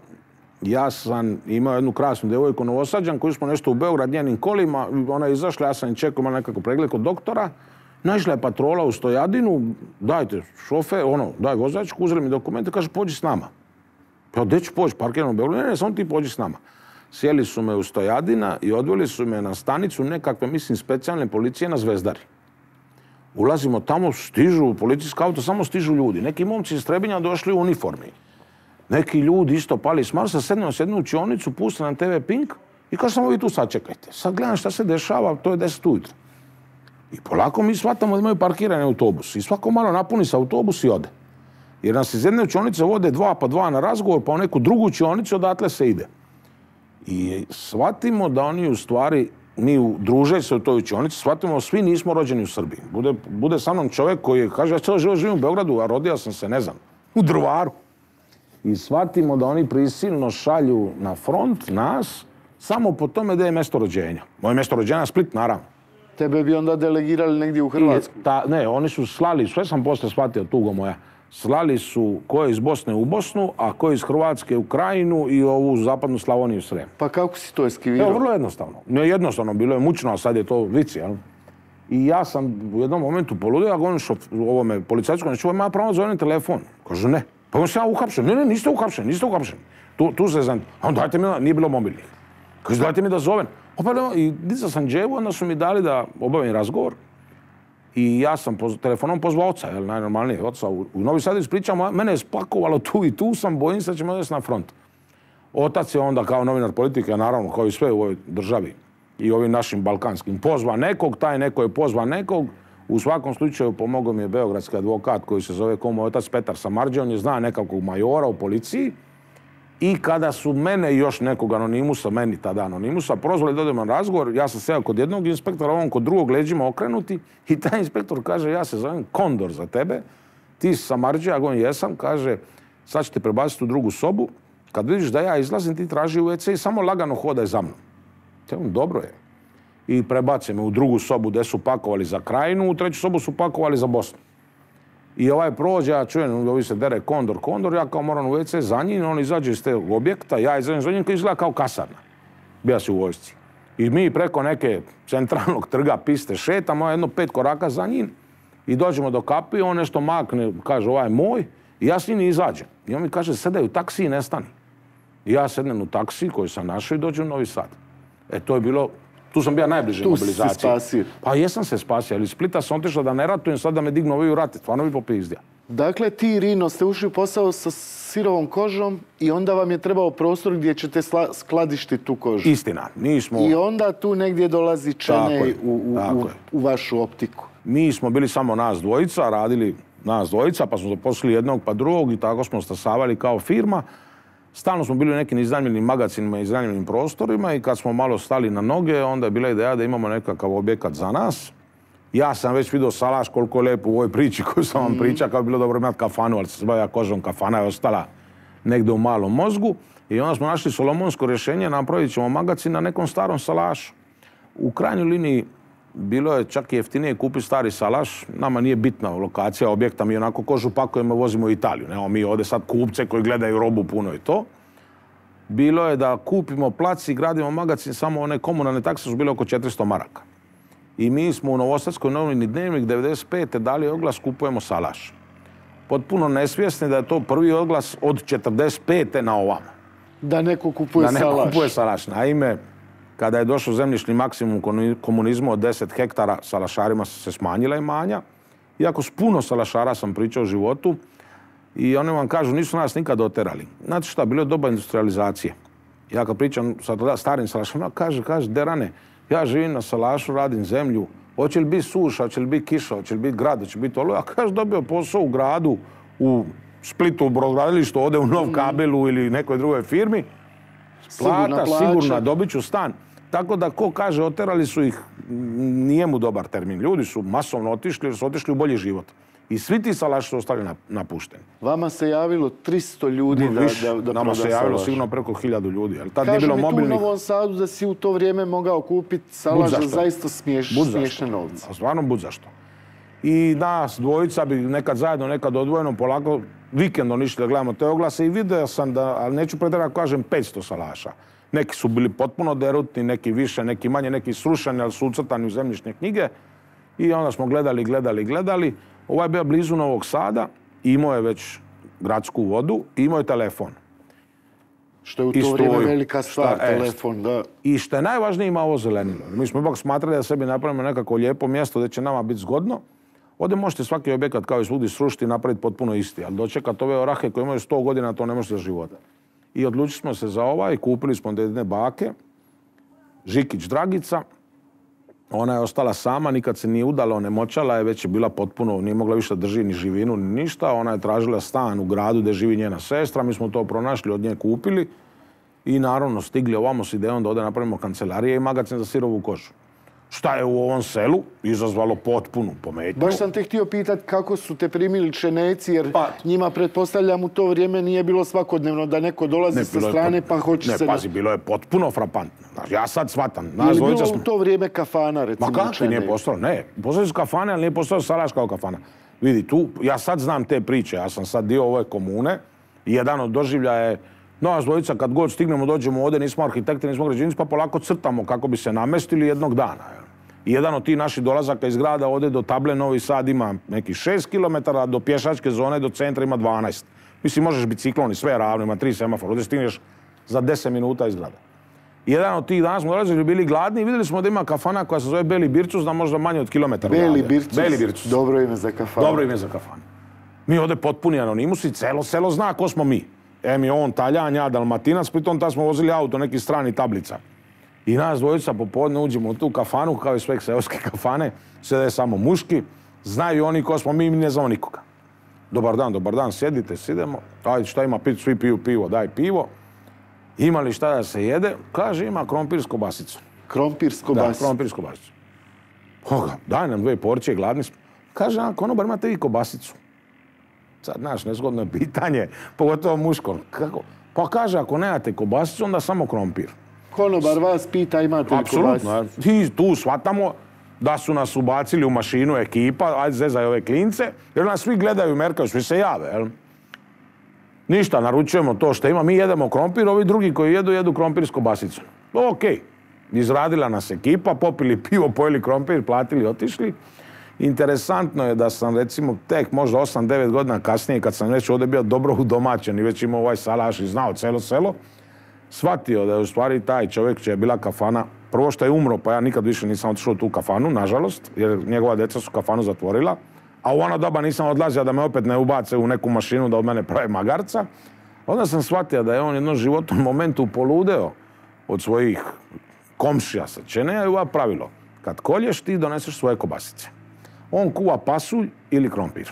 Ja sam imao jednu krasnu djevojku Novosađan koju smo nešto u Beograd njenim kolima. Ona je izašla, ja sam je čekao, imala nekako pregled kod doktora. Naišla je patrola u Stojadinu, dajte šofer, daj vozačku, uzeli mi dokumente, kaže pođi s nama. Ja, gdje ću poći, parkiram u Beogradu? Ne, samo ti pođi s nama. Sjeli su me u Stojadina i odveli su me na stanicu nekakve, mislim, specijalne policije na Zvezdari. Ulazimo tamo, stižu policijska auto, samo stižu ljudi. Neki momci iz Trebinja došli u uniformi. Neki ljudi isto pali s Marsa, sednu u učionicu, puste na TV Pink i kaže samo vi tu sačekajte. Sad gledam šta se dešava, to je 10 ujutro. I polako mi shvatamo da imaju parkirani autobus. I svako malo napuni se autobus i ode. Jer nas iz jedne učionice vode 2 pa 2 na razgovor, pa u neku drugu učionicu odatle se ide. I shvatimo da oni u stvari, mi druže se u toj učionici, shvatimo svi nismo rođeni u Srbiji. Bude sa mnom čovjek koji kaže ja cijelo život živim u Beogradu, a rodio sam se, ne znam, u Drvaru. I shvatimo da oni prisilno šalju na front nas samo po tome da je mjesto rođenja. Moje mjesto rođenja Split, naravno. Tebe bi onda delegirali negdje u Hrvatsku? Ne, oni su slali, sve sam poslije shvatio, tugo moja, slali su ko je iz Bosne u Bosnu, a ko je iz Hrvatske u Krajinu i ovu zapadnu Slavoniju u Srem. Pa kako si to eskivirao? Evo, vrlo jednostavno. Ne jednostavno, bilo je mučno, a sad je to vici, jel? I ja sam u jednom momentu poludio, ja govorim ovome policajcu, neću ja pravo zovem telefon. Kažu ne. Pa on se ja uhapšen. Ne, niste uhapšen. Tu se znam. A on dajte mi, nije bilo mobilnih. Kaže, dajte mi da zovem. I dizao sam dževu, onda su mi dali da obavim razgovor. I ja sam telefonom pozvao oca, jel, najnormalnije oca. U Novi Sad ispričam, mene je spakovalo tu i tu sam, bojim se da ćemo odvesti na front. Otac je onda kao novinar politike, naravno, kao i sve u ovoj državi i ovim našim balkanskim, pozva nekog, taj neko je pozva nekog. U svakom slučaju pomogao mi je beogradski advokat koji se zove kao moj otac Petar Samardžija, on je zna nekakvog majora u policiji. I kada su mene i još nekog anonimusa, meni tada anonimusa, prozvali da odemo na razgovor, ja sam seo kod jednog inspektora, on kod drugog leđima okrenuti i taj inspektor kaže, ja se zovem Kondor za tebe, ti si Samardžija, ja govorim jesam, kaže, sad ćete prebaciti u drugu sobu, kad vidiš da ja izlazim, ti traži u WC i samo lagano hodaj za mnom. Dobro je. I prebace me u drugu sobu gdje su pakovali za Krajinu, u treću sobu su pakovali za Bosnu. I ovaj prođe, ja čujem, ovi se dere Kondor, ja kao moram u WC za njim, on izađe iz tog objekta, ja izađem za njim koji izgleda kao kasarna. Bija si u vojsci. I mi preko neke centralnog trga piste šetamo, jedno 5 koraka za njim i dođemo do kapi, on nešto makne, kaže ovaj je moj, i ja s njim izađem. I on mi kaže, sedaj u taksi i nestani. I ja sednem u taksi koji sam našao i dođem u Novi Sad. To je bilo, tu sam bio najbliže mobilizaciji. Tu si se spasio? Pa jesam se spasio, ali iz Splita sam otišao da ne ratujem, sad da me dignu ovi u rate, stvarno bi popizdio. Dakle, ti, Rino, ste ušli u posao sa sirovom kožom i onda vam je trebao prostor gdje ćete skladištiti tu kožu. Istina, nismo... I onda tu negdje dolazi Čenej u vašu optiku. Mi smo bili samo nas dvojica, radili nas dvojica, pa smo zaposlili jednog pa drugog i tako smo stasavali kao firma. Stalno smo bili u nekim iznajmljenim magacinima i iznajmljenim prostorima i kad smo malo stali na noge, onda je bila ideja da imamo nekakav objekat za nas. Ja sam već vidio Salaš koliko je lijepo u ovoj priči koju sam vam pričao, kao bi bilo dobro imati kafanu, ali se bavio kožom, kafana je ostala negdje u malom mozgu. I onda smo našli solomonsko rješenje, napravit ćemo magacin na nekom starom Salašu. U krajnjoj liniji bilo je čak i jeftinije kupiti stari Salaš. Nama nije bitna lokacija objekta, mi onako kožu pakujemo, vozimo u Italiju. Nemo mi ovdje sad kupce koji gledaju robu puno i to. Bilo je da kupimo plac i gradimo magacin, samo one komunalne takse su bile oko 400 maraka. I mi smo u Novosadskoj novini Dnevnik 95. dali oglas kupujemo Salaš. Potpuno nesvjesni da je to prvi oglas od 45. na ovamo. Da neko kupuje Salaš. Da neko kupuje Salaš. Naime, kada je došao zemljišni maksimum komunizmu od 10 hektara, salašarima se smanjila imanja. Iako s puno salašara sam pričao o životu i oni vam kažu nisu nas nikad oterali. Znate šta, bilo je doba industrializacije. Ja kad pričam sa starim salašarima, kaže, derane, ja živim na Salašu, radim zemlju, hoće li biti suša, hoće li biti kiša, hoće li biti grad, hoće li biti oluja. A kaže, dobio posao u gradu, u Splitu, u brodogradilištu, ode u Nov Kabelu ili nekoj drugoj firmi. Plata, sigurna, dobit ću stan. Tako da ko kaže oterali su ih, nije mu dobar termin. Ljudi su masovno otišli jer su otišli u bolji život. I svi ti salaši su ostali napušteni. Vama se javilo 300 ljudi da proda salaš. Nama se javilo sigurno preko 1000 ljudi. Kaže mi tu u Novom Sadu da si u to vrijeme mogao kupiti salaš za zaista smiješne novce. Stvarno bud zašto. I nas dvojica bi nekad zajedno, nekad odvojeno polako vikendom išli da gledamo te oglase i vidio sam da, ali neću pretjerati kažem 500 salaša. Neki su bili potpuno derutni, neki više, neki manje, neki srušeni, ali su ucrtani u zemljišne knjige. I onda smo gledali. Ovaj je bio blizu Novog Sada, imao je već gradsku vodu i imao je telefon. Što je u to vrijeme velika stvar, telefon, da. I što je najvažnije, ima ovo zelenilo. Mi smo ipak smatrali da sebi napravimo nekako lijepo mjesto gdje će nama biti zgodno. Ovdje možete svaki objekat kao i svugdje srušiti i napraviti potpuno isti, ali dočekati ove orahe koje imaju 100 godina, to ne može za života. I odlučili smo se za ovaj, kupili smo jedne bake, Žikić Dragica. Ona je ostala sama, nikad se nije udala, onemoćala je, već je bila potpuno, nije mogla više drži ni živinu ni ništa. Ona je tražila stan u gradu gdje živi njena sestra, mi smo to pronašli, od nje kupili i naravno stigli ovamo s idejom da ovdje napravimo kancelarije i magacin za sirovu kožu. Šta je u ovom selu izazvalo potpunu pometnju. Baš sam te htio pitati kako su te primili Čenejci, jer njima, pretpostavljam, u to vrijeme nije bilo svakodnevno da neko dolazi sa strane pa hoće se... Ne, pazi, bilo je potpuno frapantno. Ja sad shvatam. Je li bilo u to vrijeme kafana, recimo? Ma kakvi nije postalo? Ne, postali su kafane, ali nije postao salaš kao kafana. Vidi, tu, ja sad znam te priče, ja sam sad dio ove komune i jedan od doživljaja je nas dvojica kad god stignemo, dođemo ovdje, nismo arhitekti, nismo građevinci, pa polako crtamo kako bi se namestili jednog dana. I jedan od tih naših dolazaka iz grada ovdje do table Novi Sad ima nekih 6 km, do pješačke zone do centra ima 12. Mislim, možeš biciklon i sve ravno, ima 3 semafora, ovdje stigneš za 10 minuta iz grada. I jedan od tih dana smo dolazili, bili gladni i vidjeli smo da ima kafana koja se zove Beli Bircus, da možda manje od kilometar. Beli Bircus. Dobro ime za kafanu. Dobro ime za kafanu. Mi ovdje potpuni anonimus i celo selo zna ko smo mi. Em je on Taljan, ja Dalmatinac, pritom tad smo vozili auto, neki strani tablica. I nas dvojica popodne uđemo u tu kafanu, kao i sve seoske kafane, sjede samo muški, znaju oni ko smo mi ne znamo nikoga. Dobar dan, sjedite, sidemo, ajde šta ima pit, svi piju pivo, daj pivo. Ima li šta da se jede? Kaže, ima krompir s kobasicom. Krompir s kobasicom? Da, krompir s kobasicom. Daj nam 2 porcije, gladni smo. Kaže, konobar, imate vi kobasicu? Sad, znaš, nezgodno je pitanje, pogotovo muško. Kako? Pa kaže, ako nemate kobasicu, onda samo krompir. Konobar vas pita imate li kobasicu? Apsolutno. I tu shvatamo da su nas ubacili u mašinu ekipa, ajde zezaj ove klince, jer nas svi gledaju, merkaju, svi se jave, jel? Ništa, naručujemo to što ima, mi jedemo krompir, ovi drugi koji jedu krompir s kobasicom. Okej. Izradila nas ekipa, popili pivo, pojeli krompir, platili, otišli. Interesantno je da sam, recimo, tek možda 8-9 godina kasnije, kad sam već ovdje bio dobro udomaćen i već imao ovaj salaš i znao cijelo selo, shvatio da je u stvari taj čovjek čija je bila kafana, prvo što je umro, pa ja nikad više nisam otišao u tu kafanu, nažalost, jer njegova djeca su kafanu zatvorila, a u ono doba nisam odlazio da me opet ne ubace u neku mašinu da od mene prave magarca. Onda sam shvatio da je on jednom životnom momentu poludeo od svojih komšija sa Čeneja i ova pravilo. Kad kolješ, ti doneseš svoje kobasice. On kuva pasulj ili krompir.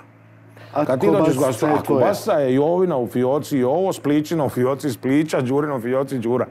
Kad ti dođeš glasiti, a kobasa je Jovina u fioci i ovo, Spličina u fioci Spliča, Đurina u fioci Đura.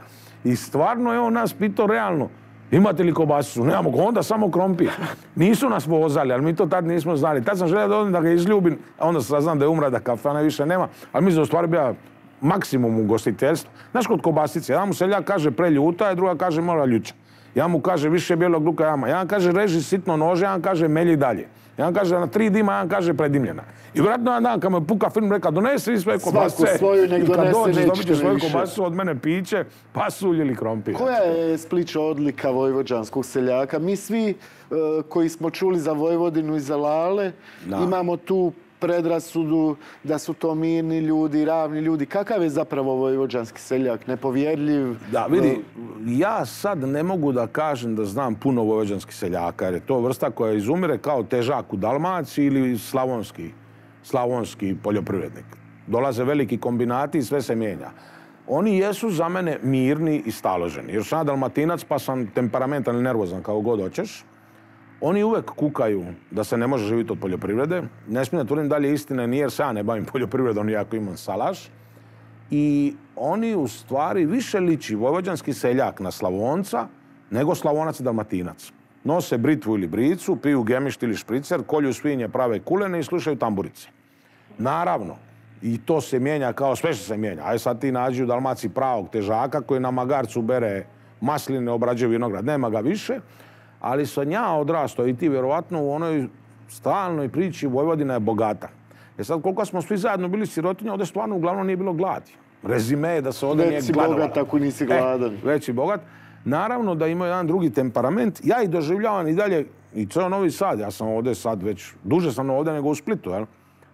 I stvarno je on nas pitao realno, imate li kobasicu? Nemamo, onda samo krompir. Nisu nas vozali, ali mi to tad nismo znali. Tad sam želio da ga izljubim, a onda saznam da je umra, da kafana više nema. Ali mislim da u stvari bio maksimum ugostiteljstva. Znaš, kod kobasice, jedan mu seljak kaže preljuta, a druga kaže mora ljuća. Jedan mu kaže više bijelog luka jama. Jedan kaže reži sitno nože, jedan kaže melji dalje. Jedan kaže na 3 dima, jedan kaže predimljena. I vjerojatno jedan dan kad me puka film reka donesi sve kobasice. Svaku svoju nek donese, i kad dođeš dobit ćeš svoju više. kobasicu, od mene piće, pasulj ili krompir. Koja je Splića odlika vojvođanskog seljaka? Mi svi koji smo čuli za Vojvodinu i za Lale, imamo tu predrasudu da su to mirni ljudi, ravni ljudi. Kakav je zapravo vojvođanski seljak? Nepovjerljiv? Da, vidi, ja sad ne mogu da kažem da znam puno vojvođanskih seljaka, jer je to vrsta koja izumire kao težak u Dalmaciji ili slavonski poljoprivrednik. Dolaze veliki kombinati i sve se mijenja. Oni jesu za mene mirni i staloženi, jer sam ja Dalmatinac pa sam temperamentan i nervozan kao god hoćeš. Oni uvek kukaju da se ne može živjeti od poljoprivrede. Ne smijem da tvrdim dalje istine, nije jer se ja ne bavim poljoprivredom, iako imam salaš. I oni u stvari više liči vojvođanski seljak na Slavonca nego Slavonac i Dalmatinac. Nose britvu ili bricu, piju gemišt ili špricer, kolju svinje, prave kulene i slušaju tamburice. Naravno, i to se mijenja kao sve što se mijenja. Aj sad ti nađi u Dalmaciji pravog težaka koji na magarcu bere masline, obrađuje vinograd. Nema ga više. Ali sam ja odrastao i ti vjerovatno u onoj stalnoj priči Vojvodina je bogata. Sad, koliko smo svi zajedno bili sirotinje, ovdje stvarno uglavnom nije bilo gladi. Rezime je da se ovdje nije gladovalo. Već si bogat ako nisi gladan. Već si bogat. Naravno da ima jedan drugi temperament. Ja ih doživljavam i dalje, i ceo Novi Sad, ja sam ovdje sad već, duže sam ovdje nego u Splitu, jel?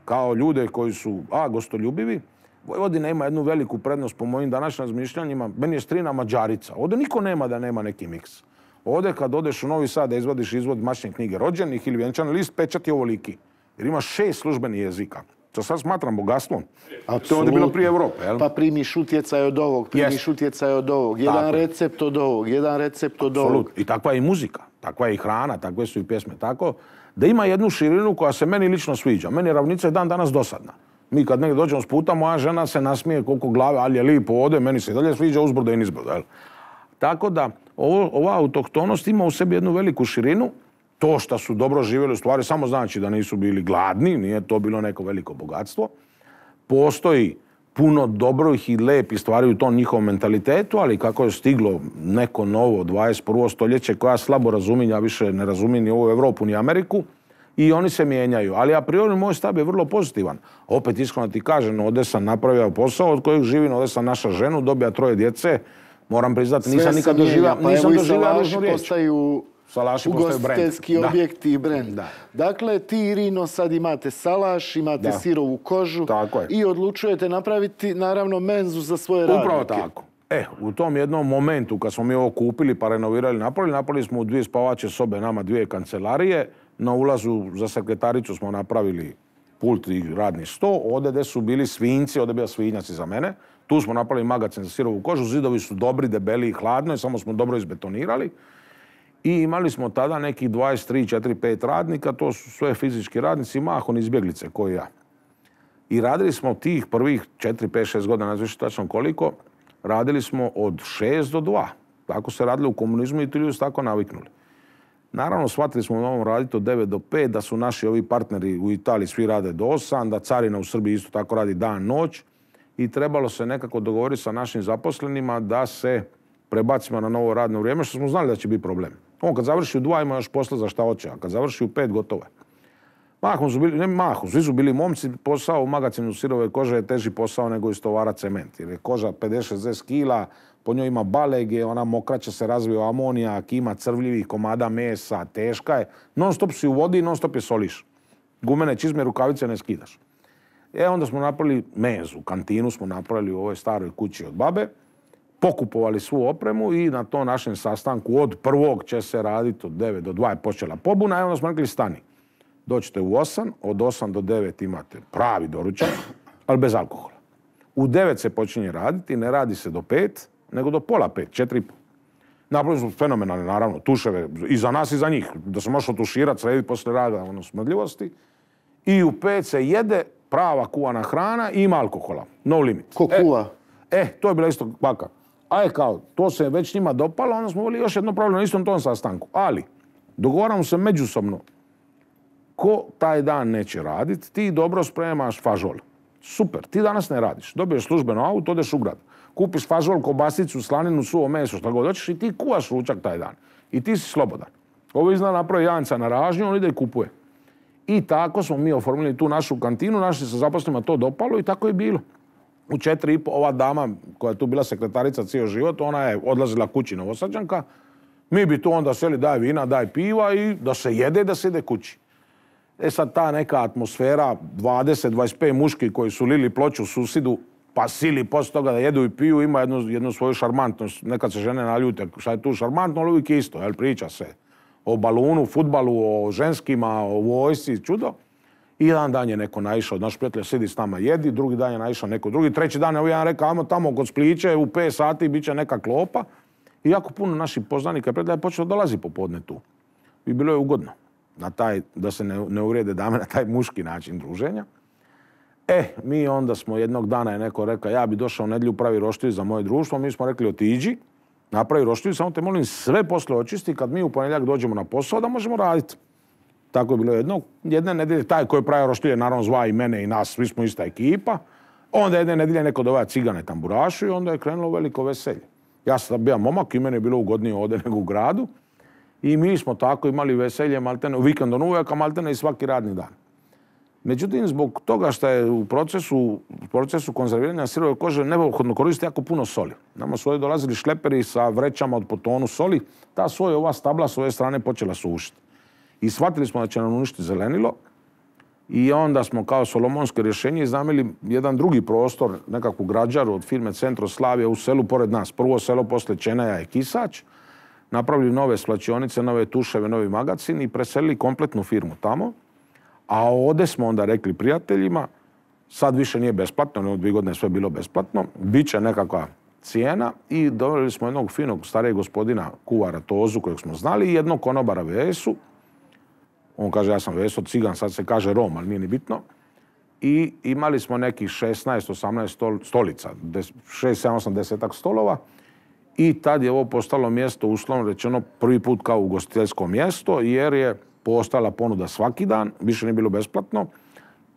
Kao ljude koji su, gostoljubivi. Vojvodina ima jednu veliku prednost po mojim današnjim razmišljanjima. Meni je strina Mađarica. Ovdje niko nema da nema neki miks. Ovdje kad odeš u Novi Sad da izvadiš izvod mačne knjige rođenih ili vjenčani list, pečat je ovoliki. Jer ima 6 službenih jezika. To sad smatram bogatstvom. To je ovdje bilo prije Evrope, jel? Pa primiš utjecaj od ovog, primiš utjecaj od ovog. Jedan recept od ovog, jedan recept od ovog. I takva je i muzika, takva je i hrana, takve su i pjesme. Tako da ima jednu širinu koja se meni lično sviđa. Meni je ravnica dan danas dosadna. Mi kad negdje dođemo s puta, moja žena se nasmije koliko glave, ali je lipo ovdje, meni se dalje sviđa uzbrdo i nizbrdo, jel? Tako da ova autohtonost ima u sebi jednu veliku širinu. To što su dobro živjeli u stvari samo znači da nisu bili gladni, nije to bilo neko veliko bogatstvo. Postoji puno dobrih i lepih stvari u tom njihovom mentalitetu, ali kako je stiglo neko novo 21. stoljeće koja slabo razumije, ja više ne razumijem ni ovu Evropu ni Ameriku, i oni se mijenjaju. Ali a priori moj stav je vrlo pozitivan. Opet iskreno ti kažem, ovdje sam napravio posao od kojeg živim, ovdje sam naša ženu, dobija 3 djece. Moram priznati, nisam nikad doživio ružnu riječ. Postaju ugostiteljski objekti i brend. Dakle, ti i Rino sad imate salaš, imate sirovu kožu i odlučujete napraviti, naravno, menzu za svoje radnike. Upravo tako. U tom jednom momentu kad smo mi ovo kupili pa renovirali, napravili smo u 2 spavače sobe, nama 2 kancelarije. Na ulazu za sekretaricu smo napravili pult i radni sto. Ovdje gdje su bili svinjci, ovdje je bio svinjac iza mene. Tu smo napravili magacin za sirovu kožu. Zidovi su dobri, debeli i hladno, samo smo dobro izbetonirali. I imali smo tada nekih 23, 4, 5 radnika. To su sve fizički radnici, mahom izbjeglice koji ja. I radili smo tih prvih 4, 5, 6 godina, ne znam tačno koliko, radili smo od 6 do 2. Tako se radili u komunizmu i ti ljudi su tako naviknuli. Naravno, shvatili smo da moramo raditi od 9 do 5, da su naši ovi partneri u Italiji svi rade do 8, da carina u Srbiji isto tako radi dan, noć. I trebalo se nekako dogovoriti sa našim zaposlenima da se prebacimo na novo radno vrijeme, što smo znali da će biti problem. On kad završi u 2 ima još posla za šta hoće, a kad završi u 5 gotovo je. Svi su bili momci, posao u magacinu sirove kože je teži posao nego istovara cement. Jer je koža 50-60 kila, po njoj ima balege, ona mokraća se razvije amonijak, ima crvljivih komada mesa, teška je. Non stop si u vodi i non stop je soliš. Gumene čizme, rukavice ne skidaš. Onda smo napravili menzu, kantinu smo napravili u ovoj staroj kući od babe, pokupovali svu opremu i na tom našem sastanku od 1. će se raditi od 9 do 2 je počela pobuna i onda smo rekli stani. Dođete u 8, od 8 do 9 imate pravi doručak, ali bez alkohola. U 9 se počinje raditi, ne radi se do 5, nego do pola 5, 4,5. Napravili smo fenomenalne, naravno, tuševe i za nas i za njih. Da se možeš otuširati, srediti poslije rada, smrdljivosti. I u 5 se jede prava kuvana hrana i ima alkohola. No limit. Ko kuva? To je bila isto baka. Kao, to se već njima dopalo, onda smo volili još jedno pravilo na istom tom sastanku. Ali, dogovaramo se međusobno. Ko taj dan neće raditi, ti dobro spremaš fažol. Super, ti danas ne radiš. Dobiješ službeno auto, odeš u grad. Kupiš fažol, kobasicu, slaninu, suvo meso, što god hoćeš i ti kuvaš ručak taj dan. I ti si slobodan. Ovo izna napravi Janca na ražnju, on ide i kupuje. I tako smo mi oformili tu našu kantinu, naši se zaposlenima to dopalo i tako je bilo. U 4,5 ova dama koja je tu bila sekretarica cijel život, ona je odlazila kući Novosađanka. Mi bi tu onda seli daj vina, daj piva i da se jede, da se ide kući. Sad ta neka atmosfera, 20-25 muški koji su lili ploču susidu, pa sili poslije toga da jedu i piju, ima jednu svoju šarmantnost. Nekad se žene naljute, šta je tu šarmantno, ali uvijek je isto, priča se o balunu, fudbalu, o ženskima, o vojsci, čudo. I jedan dan je neko naišao, naš prijatelj sidi s nama jedi, drugi dan je naišao neko drugi, treći dan je ovaj jedan rekao, ajmo tamo kod Spliće, u 5 sati bit će neka klopa. I jako puno naših poznanika i prijatelja je počelo dolazi popodne tu. I bilo je ugodno da se ne uvrijede dame na taj muški način druženja. Mi onda smo jednog dana je neko rekao, ja bi došao u nedjelju pravi roštilj za moje društvo, mi smo rekli otiđi, napravi roštilj, samo te molim sve posle očisti, kad mi u ponedjeljak dođemo na posao da možemo raditi. Tako je bilo jedne nedjelje, taj koji je pravio roštilje naravno zva i mene i nas, svi smo ista ekipa. Onda jedne nedjelje neko dovaja cigane tamburašu i onda je krenulo veliko veselje. Ja sam bio momak i meni je bilo ugodnije ovdje nego u gradu. I mi smo tako imali veselje maltene, vikendom uvijek, a maltene i svaki radni dan. Međutim, zbog toga što je u procesu konzerviranja sirove kože neophodno koristiti jako puno soli. Nama su ovdje dolazili šleperi sa vrećama od po tonu soli. Ta soja, ova stabla s ove strane počela sušiti. I shvatili smo da će nam uništiti zelenilo. I onda smo kao solomonsko rješenje iznajmili jedan drugi prostor, nekakvu građaru od firme Centroslavija u selu pored nas. Prvo selo poslije Čenaja je Kisač. Napravili nove svlačionice, nove tuševe, novi magacin i preselili kompletnu firmu tamo. A ovdje smo onda rekli prijateljima, sad više nije besplatno, no 2 godine sve bilo besplatno, bit će nekakva cijena i doveli smo jednog finog starijeg gospodina kuvara Tozu kojeg smo znali i jednog konobara Vesu. On kaže ja sam Veso cigan, sad se kaže Rom, ali nije ni bitno. I imali smo nekih 16-18 stolica, 6-7-8 stolova. I tad je ovo postalo mjesto, uslovno rečeno, prvi put kao ugostiteljsko mjesto, jer je postala ponuda svaki dan, više nije bilo besplatno.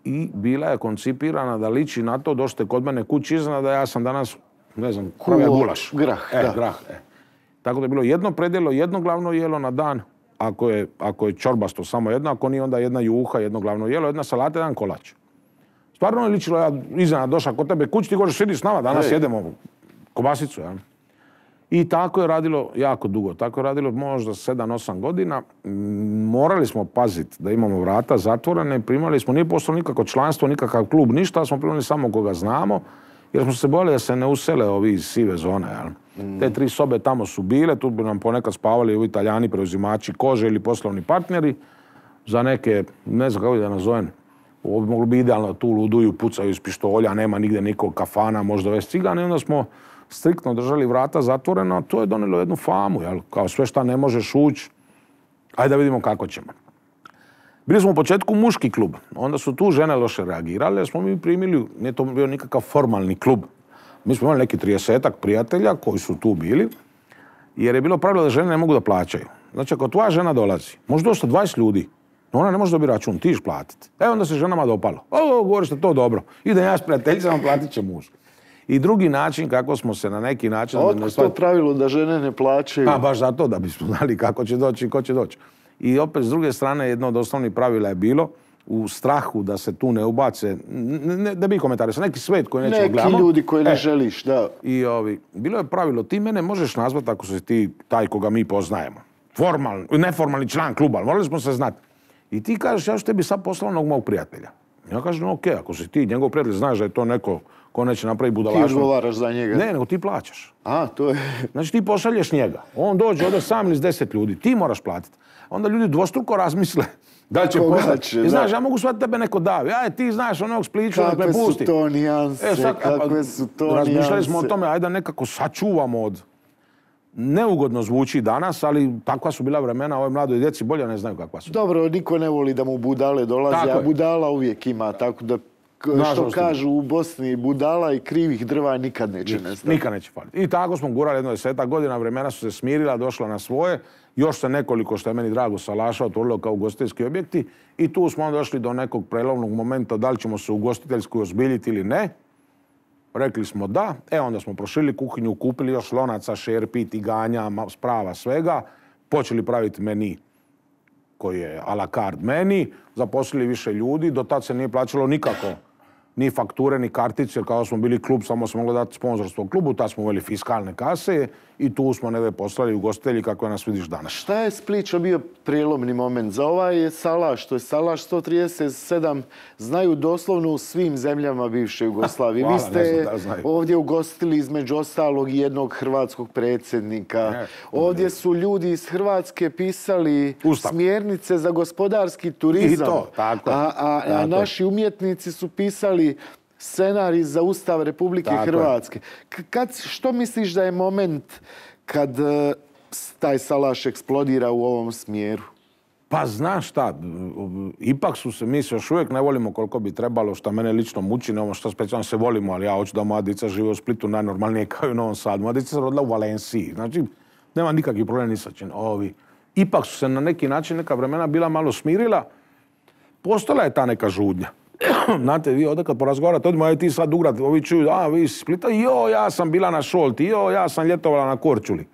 I bila je koncipirana da liči na to, došli kod mene kući iznenada, ja sam danas, ne znam, pravio gulaš. Grah, da. Grah. Tako da je bilo jedno predjelo, jedno glavno jelo na dan, ako je čorbasto samo jedno, ako nije onda jedna juha, jedno glavno jelo, jedna salata, jedan kolač. Stvarno je ličilo, ja iznenada došao kod tebe kući, ti govoreš, sidi s nama, danas jedemo kobasicu, ja. I tako je radilo jako dugo. Tako je radilo možda 7-8 godina. Morali smo paziti da imamo vrata zatvorene. Primali smo, nije postalo nikako članstvo, nikakav klub, ništa. Smo primali samo koga znamo. Jer smo se bojali da se ne usele ovi iz sive zone. Jel? Te 3 sobe tamo su bile. Tu bi nam ponekad spavali ovi Italijani, preuzimači kože ili poslovni partneri. Za neke, ne znam kako da nazovem, ovo bi moglo biti idealno, tu luduju, pucaju iz pištolja, nema nigdje nikog kafana, možda već cigana. I onda smo striktno držali vrata zatvorena, to je donijelo jednu famu, jel? Kao sve šta ne možeš ući, ajde da vidimo kako ćemo. Bili smo u početku muški klub, onda su tu žene loše reagirale, jer smo mi primili, nije to bio nikakav formalni klub. Mi smo imali neki 30-ak prijatelja koji su tu bili, jer je bilo pravilo da žene ne mogu da plaćaju. Znači, ako tvoja žena dolazi, može doći 20 ljudi, ona ne može dobiti račun, ti iš platiti. Onda se ženama dopalo. Govoriš da to dobro. Idem ja s prijateljicama, platit će muž. I drugi način kako smo se na neki način... Otkud to pravilo da žene ne plaćaju? Pa baš zato da bismo znali kako će doći i ko će doći. I opet s druge strane jedno od osnovnih pravila je bilo u strahu da se tu ne ubace, da bi komentarisao, neki svet koji nećemo gledamo. Neki ljudi koji ne želiš, da. I bilo je pravilo, ti mene možeš nazvati ako si ti taj koga mi poznajemo. Neformalni član kluba, ali morali smo se znati. I ti kažeš, ja ću tebi sad poslao onog mog prijatelja. Ja kažem, ok, ako si ti njegov prijatelj, znaš da je to neko ko neće napraviti budalaštvo. Ti odgovaraš za njega? Ne, nego ti plaćaš. To je... Znači ti pošalješ njega. On dođe ovdje sam ili s 10 ljudi. Ti moraš platiti. Onda ljudi dvostruko razmisle da će poslati. I znaš, ja mogu shvatiti tebe neko davi. Ti znaš onog Spliću, da me pusti. Kakve su to nijanse, kakve su to nijanse. Razmišljali smo o tome, ajde da nekako sačuvamo od... Neugodno zvuči danas, ali takva su bila vremena, ovoj mladoj djeci bolje ne znaju kakva su. Dobro, niko ne voli da mu budale dolaze, a budala uvijek ima, tako da što kažu u Bosni, budala i krivih drva nikad neće nestati. Nikad neće faliti. I tako smo gurali jedno 10 godina, vremena su se smirila, došla na svoje, još se nekoliko, što je meni drago, salaša otvorilo kao ugostiteljski objekti i tu smo došli do nekog prelovnog momenta da li ćemo se ugostiteljski ozbiljiti ili ne. Rekli smo da, onda smo proširili kuhinju, kupili još lonaca, šerpi, tiganja, sprava, svega, počeli praviti meni koji je a la carte meni, zaposlili više ljudi, do tad se nije plaćalo nikako ni fakture, ni kartice, jer kao smo bili klub, samo smo mogli dati sponzorstvo klubu, tad smo uveli fiskalne kase i tu smo negdje poslali ugostitelji kako nas vidiš danas. Šta je Splića bio prijelomni moment? Za ovaj je salaš, to je salaš 137, znaju doslovno u svim zemljama bivše Jugoslavije. Vi ste ovdje ugostili između ostalog jednog hrvatskog predsjednika. Ovdje su ljudi iz Hrvatske pisali smjernice za gospodarski turizam. I to, tako. A naši umjetnici su pisali scenarij za Ustav Republike Hrvatske. Što misliš da je moment kad taj salaš eksplodira u ovom smjeru? Pa znaš šta, ipak su se, mi se još uvijek ne volimo koliko bi trebalo, što mene lično muči, ne ono što specijalno se volimo, ali ja hoću da moja dica žive u Splitu najnormalnije kao i u Novom Sadu. Moja dica se rodila u Valenciji, znači nema nikakvih problema ni sa čim. Ipak su se na neki način neka vremena bila malo smirila, postala je ta neka žudnja. Znate, vi ovdje kad porazgovarate, odmah ti sad u grad, ovi čuju, vi iz Splita, ja sam bila na Šolti, ja sam ljetovala na Korčuli.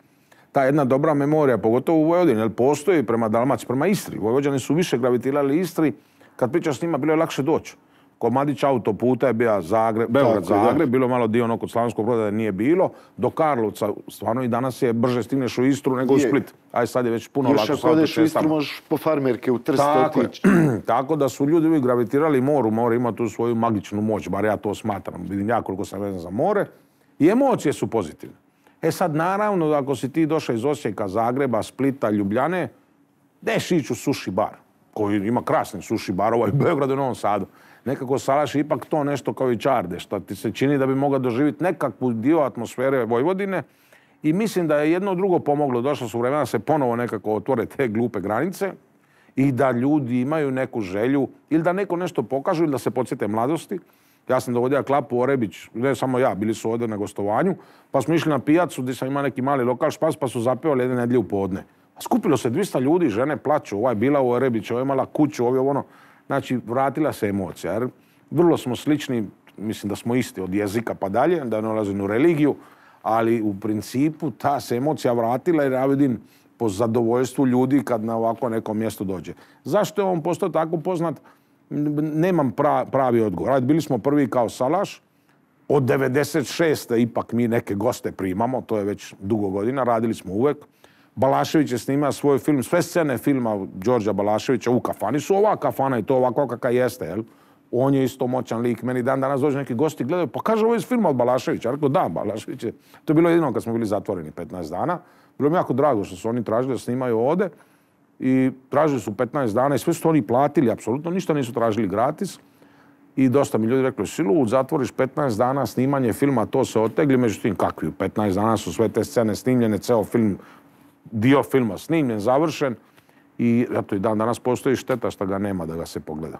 Ta jedna dobra memorija, pogotovo u Vojvodini, jer postoji prema Dalmaciji, prema Istri. Vojvođani su više gravitirali Istri, kad pričaš s njima, bilo je lakše doći. Komadić autoputa je bio Beograd-Zagreb, bilo malo dio ono kod Slavonskog Broda da nije bilo. Do Karlovca, stvarno i danas je brže stigneš u Istru nego u Split. Aj sad je već puno lako. Još ako odeš u Istru možeš po farmerke u Trst otići. Tako da su ljudi uvijek gravitirali moru. More ima tu svoju magičnu moć, bar ja to smatram. Vidim ja koliko sam vezan za more. I emocije su pozitivne. E sad naravno da ako si ti došao iz Osijeka, Zagreba, Splita, Ljubljane, deš ići u sushi bar, koji ima krasni sushi barova i u Beogradu i Novom Sadu. Nekako Salaš je ipak to nešto kao i Čarde, što ti se čini da bi mogao doživjeti nekakvu dio atmosfere Vojvodine. I mislim da je jedno drugo pomoglo. Došlo su vremena da se ponovo nekako otvore te glupe granice i da ljudi imaju neku želju ili da neko nešto pokažu ili da se podsjete mladosti. Ja sam dovodio Klapu Orebić, ne samo ja, bili su ovdje na gostovanju, pa smo išli na pijacu gdje sam imao neki mali lokal Špas, pa su zapevali jedne nedjelje u podne. Skupilo se 200 ljudi, žene plaću, ovaj bila u Orebiću, ovaj imala kuću, ovaj ono. Znači, vratila se emocija, jer vrlo smo slični, mislim da smo isti od jezika pa dalje, da ne ulazim u religiju, ali u principu ta se emocija vratila jer ja vidim po zadovoljstvu ljudi kad na ovako neko mjesto dođe. Zašto je on postao tako poznat? Nemam pravi odgovor. Bili smo prvi kao Salaš, od 96. ipak mi neke goste primamo, to je već dugo godina, radili smo uvek. Balašević je snimao svoj film, sve scene filma Đorđa Balaševića u kafani su ova kafana i to ovako kakva jeste, jel? On je isto moćan lik, meni danas dođe neki gosti gledaju, pa kaže ovo je iz filma od Balaševića. Ja rekao da, Balašević je. To je bilo jedino kad smo bili zatvoreni 15 dana. Bilo mi jako drago što su oni tražili da snimaju ovde i tražili su 15 dana i sve su oni platili, apsolutno ništa nisu tražili gratis. I dosta mi ljudi rekli, silu, zatvoriš 15 dana snimanje filma, to se otegli, međutim kakvi, 15 dana su sve te scene snimljene, ceo film, dio filma snimljen, završen i eto i dan danas postoji šteta što ga nema da ga se pogleda.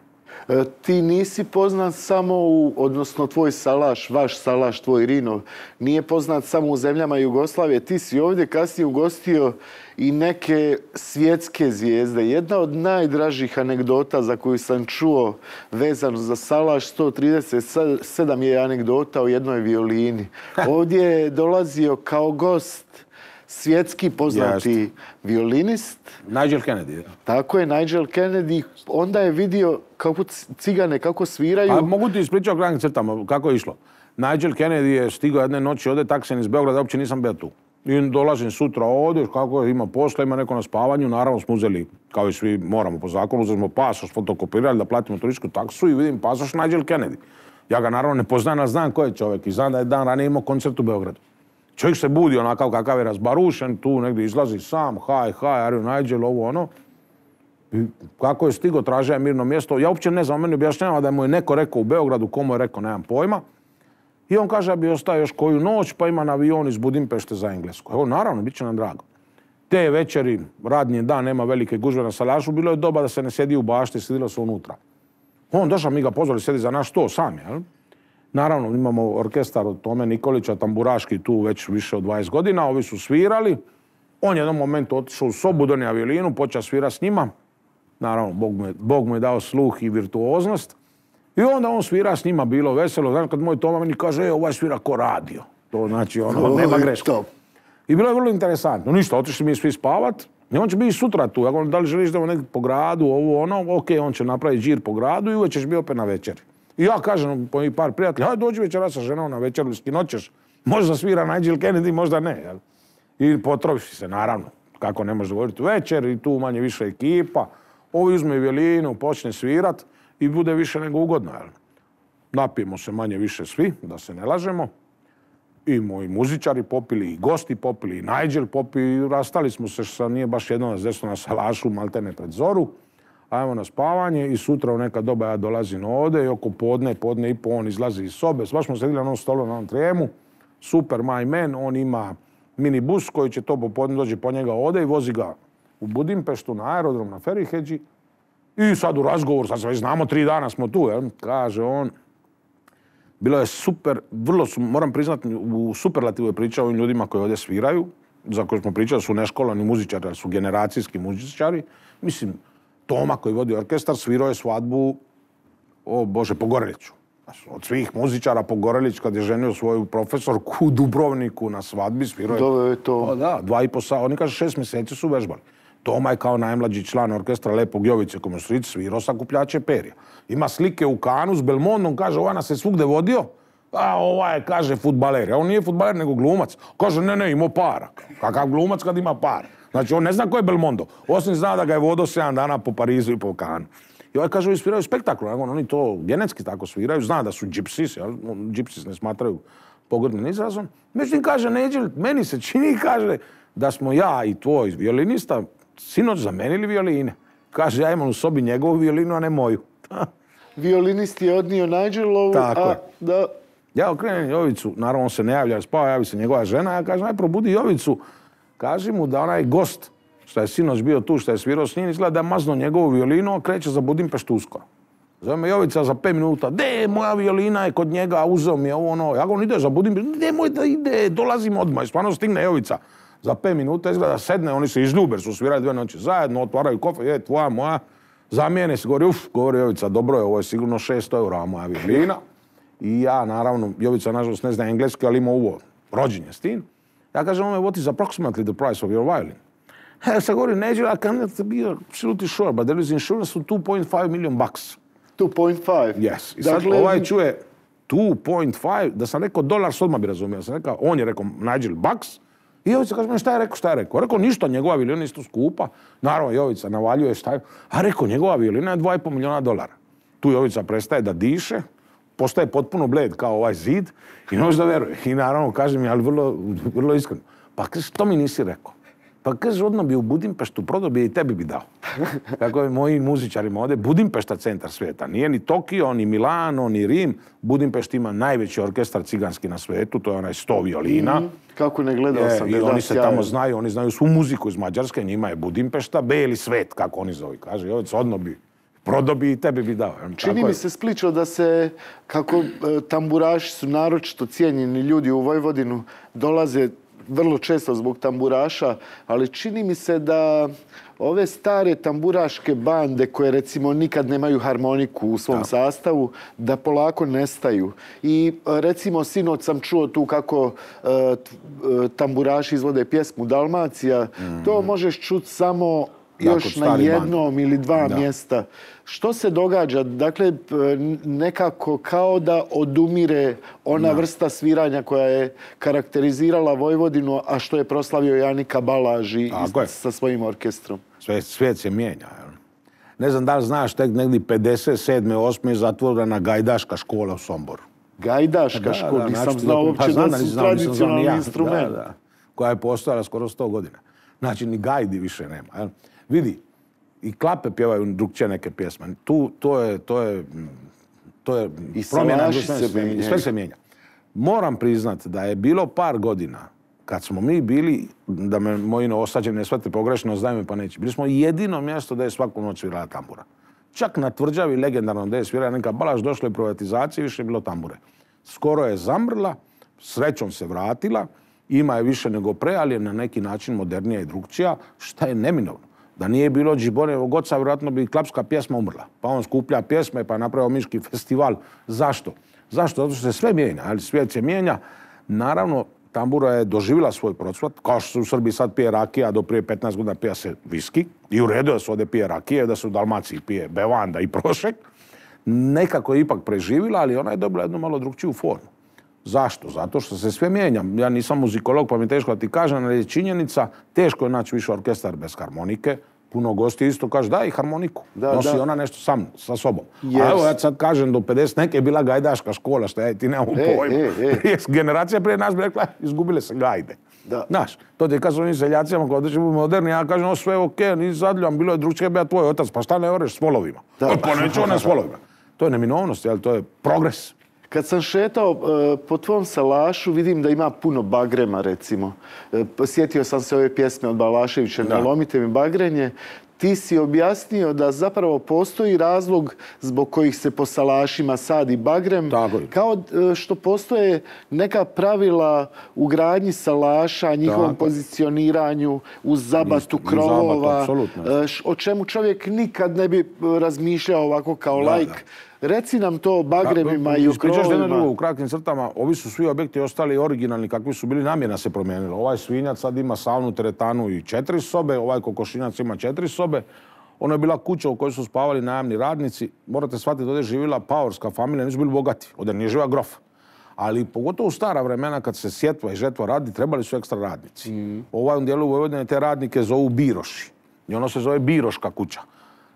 Ti nisi poznat samo odnosno tvoj Salaš, vaš Salaš, tvoj Rino, nije poznat samo u zemljama Jugoslavije. Ti si ovdje kasnije ugostio i neke svjetske zvijezde. Jedna od najdražih anegdota za koju sam čuo vezano za Salaš, 137 je anegdota o jednoj violini. Ovdje je dolazio kao gost svjetski poznati violinist. Nigel Kennedy. Tako je, Nigel Kennedy. Onda je vidio kako cigane, kako sviraju. A mogu ti ispričati o kratkim crtama kako je išlo. Nigel Kennedy je stigao jedne noći ovdje taksen iz Beograda, uopće nisam bio tu. I dolazim sutra ovdje, kako ima posla, ima neko na spavanju, naravno smo uzeli, kao i svi moramo po zakonu, uzeli smo pasoš, fotokopirali da platimo turističku taksu i vidim pasoš Nigel Kennedy. Ja ga naravno ne poznajem, ali znam ko je čovjek i znam da je dan ranije imao koncert u Beogradu. Čovjek se budi onakav kakav je razbarušen, tu negdje izlazi sam, hi, are you Nigel, ovo ono. I kako je stigo, tražio je mirno mjesto. Ja uopće ne znam, meni objašnjava da mu je neko rekao u Beogradu, komu je rekao, nemam pojma. I on kaže da bi ostao još koju noć, pa ima na avion iz Budimpešte za Englesku. Evo, naravno, bit će nam drago. Te večeri, radni dan, nema velike gužve na Salašu, bilo je doba da se ne sjedi u bašti, sjedilo se unutra. On došao, mi ga pozvali, sjedi za naš sto sam, jel? Naravno, imamo orkestar od Tome Nikolića, tamburaški tu već više od 20 godina, ovi su svirali. On je jednom momentu otišao u sobu, donio violinu, počeo svirati s njima. Naravno, Bog mu je dao sluh i virtuoznost. I onda on svira s njima, bilo veselo. Znači, kad moj Toma meni kaže, ovaj svira ko radio. To znači, nema greška. I bilo je vrlo interesantno. Ništa, otišli mi svi spavat. I on će biti sutra tu. Ako da li želiš da negdje po gradu, ovo, ono, ok, on će napraviti žir po gradu i uveć ćeš biti opet na večeri. I ja kažem po par prijatelja, hajde dođi večera sa ženom na večeru, skinoćeš. Možda svira Nigel Kennedy, možda ne. Jel? I potroši se, naravno. Kako ne može govoriti večer i tu manje više ekipa. Ovi uzme violinu, počne svirat i bude više nego ugodno. Jel? Napijemo se manje više svi, da se ne lažemo. I moji muzičari popili, i gosti popili, i Nigel popili. I rastali smo se što nije baš jedno nas desno na Salašu, maltene pred zoru. Ajmo na spavanje i sutra u neka doba ja dolazim ovdje i oko podne i po on izlazi iz sobe. Baš smo sedili na onom stolu, na onom trijemu. Super my man, on ima minibus koji će to popodne dođe po njega ovdje i vozi ga u Budimpeštu na aerodrom na Feriheđi. I sad u razgovor, sad se već znamo 3 dana smo tu, jel? Kaže on. Bilo je super, vrlo su, moram priznati, u superlativu je pričao ovim ljudima koji ovdje sviraju, za koje smo pričali su neškolovani muzičari, ali su generacijski muzičari. Mislim, Toma koji vodi orkestar svirao je svadbu, Pogoreliću. Od svih muzičara Pogorelić kad je ženio svoju profesorku u Dubrovniku na svadbi svirao je. Doveo je to. Da, 2,5 sata, oni kaže 6 mjeseci su vežbali. Toma je kao najmlađi član orkestra Lepog Jovice Komosrić svirao sakupljače perja. Ima slike u Kanu s Belmondom, kaže, ovaj nas je svugde vodio, a ovaj je, kaže, fudbaler. A on nije fudbaler, nego glumac. Kaže, ne, imao para. Kakav glumac kad ima para? Znači, on ne zna ko je Belmondo. Osim zna da ga je vodio 7 dana po Parizu i po Kanu. I ovaj kaže, ovi sviraju spektakl. Oni to genetski tako sviraju. Zna da su gypsies, gypsies ne smatraju pogrdnim izrazom. Međutim, kaže, Neđel, meni se čini, kaže, da smo ja i tvoj violinista sinoć zamenili violine. Kaže, ja imam u sobi njegovu violinu, a ne moju. Violinist je odnio Nigelovu, a da... Ja okrenem Jovicu, naravno on se ne javlja, spava, javi se njegova žena, ja kažem, aj probudi Jovicu, kaži mu da onaj gost, što je sinoć bio tu, što je svirao s njim, izgleda da je mazno njegovu violinu, a kreće za Budimpeštu uskoro. Zove me Jovica za 5 minuta, moja violina je kod njega, uzeo mi je ovo ono, ja govorim, ide za Budimpeštu, nemoj da ide, dolazim odmah, i stvarno stigne Jovica. Za 5 minuta izgleda sedne, oni se izljube, su svirali 2 noći zajedno, otvaraju kofe, tvoja, moja, zamijene se, govori Jovica, dobro je, ovo je sigurno 600 eura moja violina. I ja, naravno, Jovica nažalost ne zna engleski, ali ima ovo rođenje s tim. Ja kažem, what is approximately the price of your violin? Ja sam govorio, Neđel, I cannot be absolutely sure, but there is insurance of $2.5 million. 2.5? Yes. I sad ovaj čuje 2.5, da sam rekao dolar, odmah bi razumio. On je rekao, Nigel bucks. I Jovica kaže, šta je rekao? Rekao, ništa, njegova violina je isto skupa. Naravno, Jovica navaljuje šta je. A rekao, njegova violina je $2,5 miliona. Tu Jovica prestaje da diše, postaje potpuno bled kao ovaj zid i ne može da veruje. I naravno, kaže mi, ali vrlo iskreno, pa kaže, što mi nisi rekao? Pa kaže, odmah bi u Budimpeštu prodao bi i tebi bi dao. Kako je moji muzičarima ovdje, Budimpešta centar svijeta. Nije ni Tokio, ni Milano, ni Rim. Budimpešt ima najveći orkestar ciganski na svijetu, to je onaj 100 violina. Kako ne gledao sam. I oni se tamo znaju, oni znaju svu muziku iz Mađarske, njima je Budimpešta, beli svet, kako oni zove. Kaže, Jovica, odmah bi prodao bi i tebi bi dao. Čini mi se slično da se, kako tamburaši su naročito cijenjeni ljudi u Vojvodinu, dolaze vrlo često zbog tamburaša, ali čini mi se da ove stare tamburaške bande koje recimo nikad nemaju harmoniku u svom sastavu, da polako nestaju. I recimo sinoć sam čuo tu kako tamburaši izvode pjesmu Dalmacija. To možeš čuti samo još na jednom ili 2 mjesta. Što se događa? Dakle, nekako kao da odumire ona vrsta sviranja koja je karakterizirala Vojvodinu, a što je proslavio Janika Balaži sa svojim orkestrom. Svijet se mijenja. Ne znam da li znaš, tek negdje 57. 8. je zatvorena Gajdaška škola u Somboru. Gajdaška škola? Nisam znao uopće da su tradicionalni instrument. Koja je postojala skoro 100 godina. Znači, ni gajdi više nema. Vidi, i Klape pjevaju drugčije neke pjesme. To je promjena. I sve se mijenja. Moram priznati da je bilo par godina kad smo mi bili, da me moji osađeni ne shvate pogrešno, znaju me pa neće, bili smo jedino mjesto da je svaku noć svirala tambura. Čak na Tvrđavi, legendarno da je svirala Janika Balaš, došlo je privatizacije, više je bilo tambure. Skoro je zamrla, srećom se vratila, ima je više nego pre, ali je na neki način modernija i drugčija, šta je neminovno. Da nije bilo Džiborevog oca, vjerojatno bi klapska pjesma umrla. Pa on skuplja pjesme, pa je napravio Miški festival. Zašto? Zato što se sve mijenja, ali svijet se mijenja. Naravno, tambura je doživjela svoj procvat, kao što se u Srbiji sad pije rakija, do prije 15 godina pija se viski. I u redu da se ovdje pije rakije, da se u Dalmaciji pije bevanda i prošek. Nekako je ipak preživjela, ali ona je dobila jednu malo drugčiju formu. Zašto? Zato što se sve mijenja. Ja nisam muzikolog, pa mi teško da ti kažem, ali je činjenica, teško je naći više orkestar bez harmonike. Puno gosti isto kaže, daj harmoniku. Nosi ona nešto sa sobom. A evo, ja sad kažem, do 50 neke je bila gajdaška škola, što ja ti nemam pojma. Generacija prije nas bi rekla, izgubile se gajde. Znaš, to ti kažu onim seljacima, kada će biti moderni, ja kažem, o sve okej, nisi zadljivan, bilo je drugčije, ja tvoj otac, pa šta ne oreš s volovima? Pa neću one s volovima. To je neminovnost, to je progres. Kad sam šetao po tvom salašu, vidim da ima puno bagrema, recimo. Sjetio sam se ove pjesme od Balaševića, Ne lomite mi bagrenje. ti si objasnio da zapravo postoji razlog zbog kojih se po salašima sadi bagrem, kao što postoje neka pravila u gradnji salaša, njihovom pozicioniranju, uz zabatu krovova, o čemu čovjek nikad ne bi razmišljao ovako kao laik. Reci nam to o bagremima i o krovovima. U kratkim crtama, ovi su svi objekti ostali originalni kakvi su bili, namjena se promijenila. Ovaj svinjac sad ima saunu, teretanu i 4 sobe, ovaj kokošinjac ima 4 sobe. Ono je bila kuća u kojoj su spavali najamni radnici. Morate shvatiti, ovdje je živjela paorska familija, nisu bili bogati. Ovdje nije živa grof. Ali pogotovo u stara vremena kad se sjetva i žetva radi, trebali su ekstra radnici. U ovom dijelu Vojvodine te radnike zovu biroši. I ono se zove biroška kuća.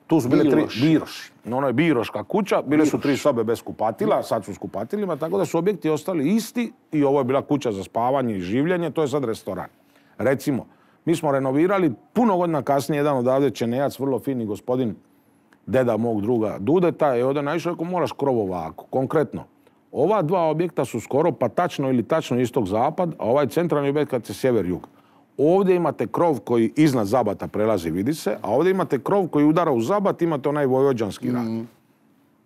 Tu su bile 3 biroši. Ono je biroška kuća, bile su 3 sobe bez kupatila, sad su s kupatilima, tako da su objekti ostali isti i ovo je bila kuća za spavanje i življenje, to je sad restoran. Recimo, mi smo renovirali puno godina kasnije, jedan odavde Čenejac, vrlo fini gospodin, deda mog druga Dudeta, je ovdje naišao, rekao moraš krov ovako. Konkretno, ova 2 objekta su skoro pa tačno ili tačno istog-zapad, a ovaj centralni objekt kad se sjever-jug. Ovdje imate krov koji iznad zabata prelazi, vidi se, a ovdje imate krov koji udara u zabat, imate onaj vojvođanski rad.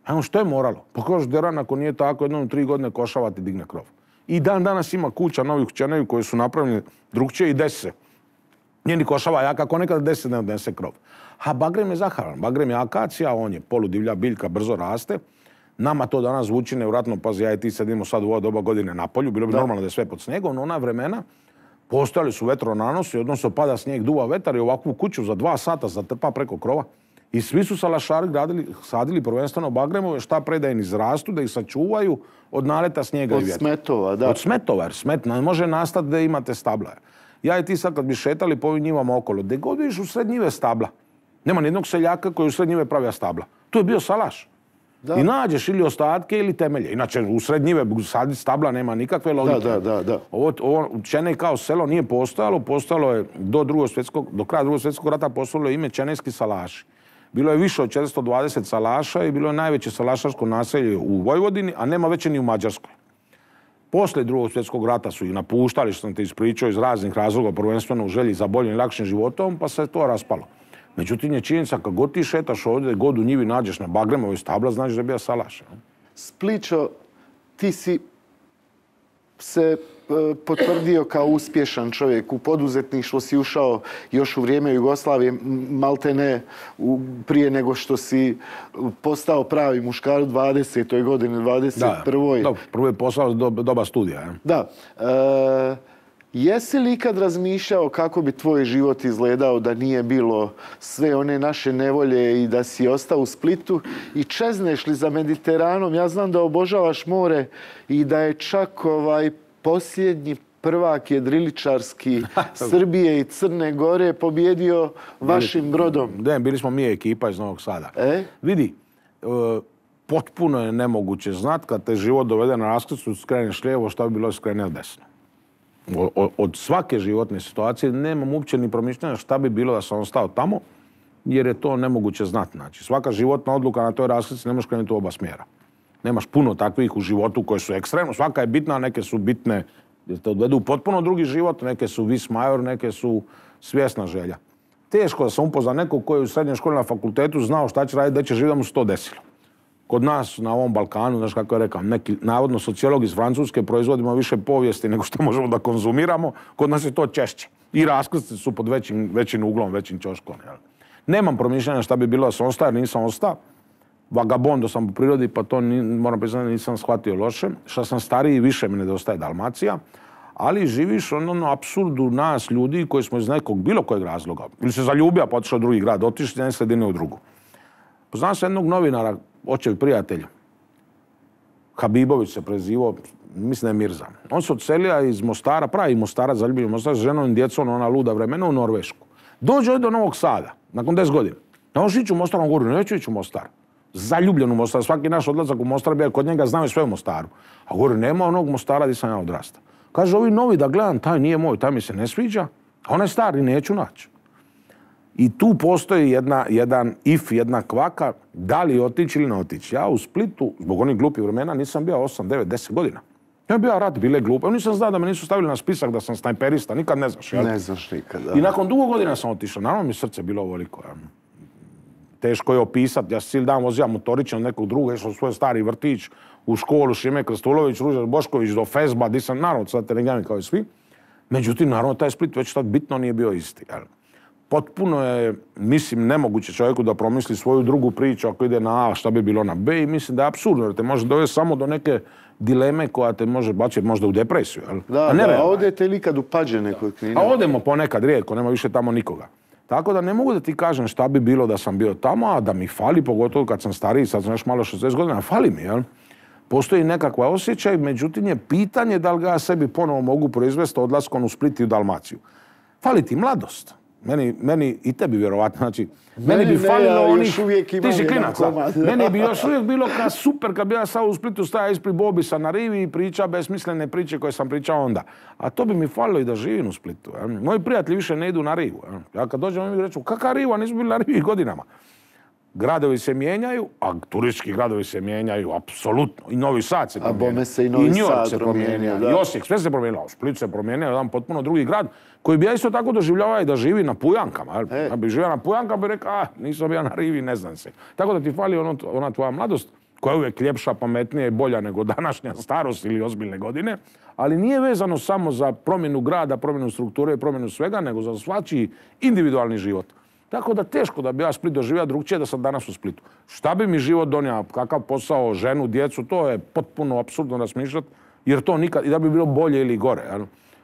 Evo što je moralo? Pa kažeš deran ako nije tako, jednom 3 godine košavati digne krov. I dan danas ima kuća novih kućanevi koji su napravljeni drugčije i desi se. Njeni košava jak, ako nekada 10 ne odnese krov. A bagrem je zaharan, bagrem je akacija, on je poludivlja biljka, brzo raste. Nama to danas zvuči nevratno, pazi, ja i ti sedimo sad u ovo doba godine na polju, bilo bi normalno da je sve pod snijegom, no ona vremena postojali su vetronanosi, odnosno pada snijeg, duva vetar i ovakvu kuću za 2 sata zatrpa preko krova. I svi su salašari sadili prvenstveno bagremove, šta pre da im izrastu, da ih sačuvaju od naleta snijega i vjetra. Od smetova, da. Od smetova, jer smet ne može nastati da imate stabla. Ja i ti sad kad bi šetali po ovim njivama okolo, gdje god vidiš u sred njive stabla. Nema nijednog seljaka koji u sred njive pravija stabla. Tu je bio salaš. I nađeš ili ostatke ili temelje. Inače, u sred njive saditi stabla nema nikakve logike. Ovo Čenej kao selo nije postojalo. Postojalo je do kraja drugog svjetskog rata postojalo ime Čenejski salaši. Bilo je više od 420 salaša i bilo je najveće salašarsko naselje u Vojvodini, a nema veće ni u Mađarskoj. Poslije drugog svjetskog rata su ih napuštali, što sam te ispričao, iz raznih razloga, prvenstveno u želji za boljim i lakšim životom, pa se to raspalo. Međutim, je činjenica, kad god ti šetaš ovdje, god u njivi nađeš na bagremovoj stabla, znaš da je bio salaš. Spličo, ti si se potvrdio kao uspješan čovjek. U poduzetništvo si ušao još u vrijeme Jugoslavije, malte ne prije nego što si postao pravi muškar u 20. godini, 21. Da, prvo je posao doba studija. Da. Jesi li ikad razmišljao kako bi tvoj život izgledao da nije bilo sve one naše nevolje i da si ostao u Splitu i čezneš li za Mediteranom? Ja znam da obožavaš more i da je čak posljednji prvak jedriličarski Srbije i Crne Gore pobjedio vašim brodom. Da, bili smo mi ekipa iz Novog Sada. Vidi, potpuno je nemoguće znat kad te život dovede na raskrsnicu, skreneš lijevo, šta bi bilo skreneš desno. Od svake životne situacije nemam uopće ni promišljanja šta bi bilo da sam ostao tamo, jer je to nemoguće znati. Znači, svaka životna odluka na toj raskrsnici ne možeš krenuti u oba smjera. Nemaš puno takvih u životu koje su ekstremno. Svaka je bitna, a neke su bitne jer te odvedu u potpuno drugi život, neke su vis major, neke su svjesna želja. Teško da sam upoznao nekog koji je u srednjoj školi na fakultetu znao šta će raditi, da će živjeti da mu se to desilo. Kod nas na ovom Balkanu, znaš kako je rekao, neki navodno sociolog iz Francuske proizvodimo više povijesti nego što možemo da konzumiramo, kod nas je to češće. I raskrsnice su pod većim uglom, većim ćoškom. Nemam promišljanja šta bi bilo da sam ostao, jer nisam ostao. Vagabondo sam po prirodi, pa to moram priznati nisam shvatio loše. Što sam stariji, više mi nedostaje Dalmacija. Ali živiš ono apsurdu nas, ljudi koji smo iz nekog bilo kojeg razloga. Ili se zaljubio, pa otišao u drugi grad, otišli iz jedne sredine u drugu. Poznam se jednog novinara, očev prijatelj, Habibović se prezivao, mislim da je Mirza. On se odselio iz Mostara, pravi Mostara, zaljubljen Mostara, s ženom i djecom, ona luda vremena, u Norvešku. Dođe do Novog Sada, nakon 10 godina. Da on ići u Mostar, on govori, neću ići u Mostar. Zaljubljen u Mostar, svaki naš odlazak u Mostar bio kod njega, znao je sve u Mostaru. A govori, nema onog Mostara gdje sam ja odrastao. Kaže, ovi novi da gledam, taj nije moj, taj mi se ne sviđa, a onaj stari neću naći. I tu postoji jedna kvaka, da li otići ili ne otići. Ja u Splitu, zbog onih glupih vremena, nisam bio 8, 9, 10 godina. Ja bio rat, bile glupe. Ja nisam znao da me nisu stavili na spisak da sam snajperista, nikad ne znaš. Ne znaš nikad, da. I nakon dugo godina sam otišao. Naravno mi srce bilo ovoliko. teško je opisati. Ja se cijeli dan vozio motorićem od nekog druga, išao u svoj stari vrtić, u školu Šime Krstulović, Ruža Bošković, do Fezba, di sam, naravno, sad telegami kao i svi. Međutim, naravno, taj Split već tad bitno nije bio isti. Potpuno je, mislim, nemoguće čovjeku da promisli svoju drugu priču ako ide na A, šta bi bilo na B, i mislim da je apsurdno, jer te može dovesti samo do neke dileme koja te može baciti možda u depresiju. A odete li kad u Pađene kod Knina? A odemo ponekad, rijetko, nema više tamo nikoga. Tako da ne mogu da ti kažem šta bi bilo da sam bio tamo, a da mi fali, pogotovo kad sam stariji, sad sam još malo 60 godina, fali mi, jel? Postoji nekakva osjećaj, međutim je pitanje da li ga ja sebi ponovo mogu proizvesti odlaskom u Split i u Dalmaciju. Fali ti mladost. Meni i tebi vjerovatno, znači, meni bi falilo onih, ti si klinac, meni bi još uvijek bilo super kad bi ja sad u Splitu stajao ispred Bobisa na rivi i pričao besmislene priče koje sam pričao onda. A to bi mi falilo i da živim u Splitu. Moji prijatelji više ne idu na rivu. Ja kad dođem mi reću, kakva riva, nisu bili na rivi godinama. Gradovi se mijenjaju, a turistički gradovi se mijenjaju, apsolutno. I Novi Sad se promijenio. A bome se i Novi Sad se promijenio. I Osijek, sve se promijenilo. Split se promijenio, jedan potpuno drugi grad, koji bi ja isto tako doživljavao i da živi na Pujankama. Ja bi živio na Pujankama, bi rekao, nisam ja na rivi, ne znam se. Tako da ti fali ona tvoja mladost, koja je uvijek ljepša, pametnija i bolja nego današnja starost ili ozbiljne godine, ali nije vezano samo za promjenu grada, promjenu strukture, promjenu svega, nego za svačiji individualni život. Tako da teško da bi ja Split doživio drugčije da sam danas u Splitu. Šta bi mi život donio, kakav posao, ženu, djecu, to je potpuno apsurdno razmišljati, jer to nikad, i da bi bilo bolje ili gore.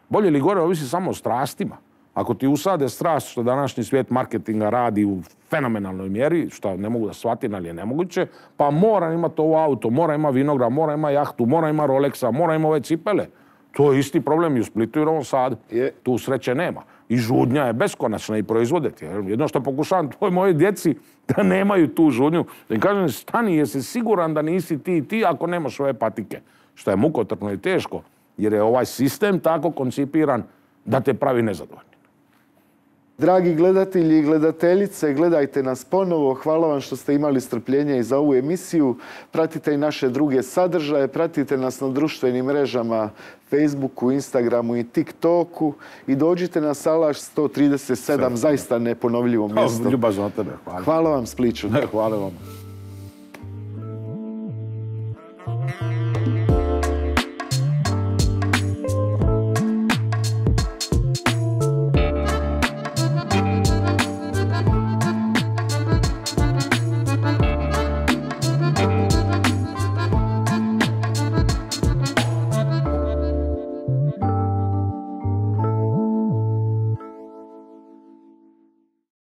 Bolje ili gore ovisi samo o strastima. Ako ti usade strast, što današnji svijet marketinga radi u fenomenalnoj mjeri, što ne mogu da shvatim, ali je nemoguće, pa mora imati ovo auto, mora ima vinograd, mora ima jahtu, mora ima Rolexa, mora ima ove cipele. To je isti problem i u Splitu i u Novom Sadu. Tu sreće nema. I žudnja je beskonačna i proizvoditi. Jedno što pokušavam tvoj moje djeci da nemaju tu žudnju. Da im kažem, stani, jesi siguran da nisi ti ako nemaš ove patike. Što je mukotrpno i teško. Jer je ovaj sistem tako koncipiran da te pravi nezadovoljni. Dragi gledatelji i gledateljice, gledajte nas ponovo. Hvala vam što ste imali strpljenje i za ovu emisiju. Pratite i naše druge sadržaje. Pratite nas na društvenim mrežama Facebooku, Instagramu i TikToku. I dođite na Salaš 137, zaista neponovljivo mjesto. Ljubazno od tebe. Hvala vam, Spliću. Hvala vam.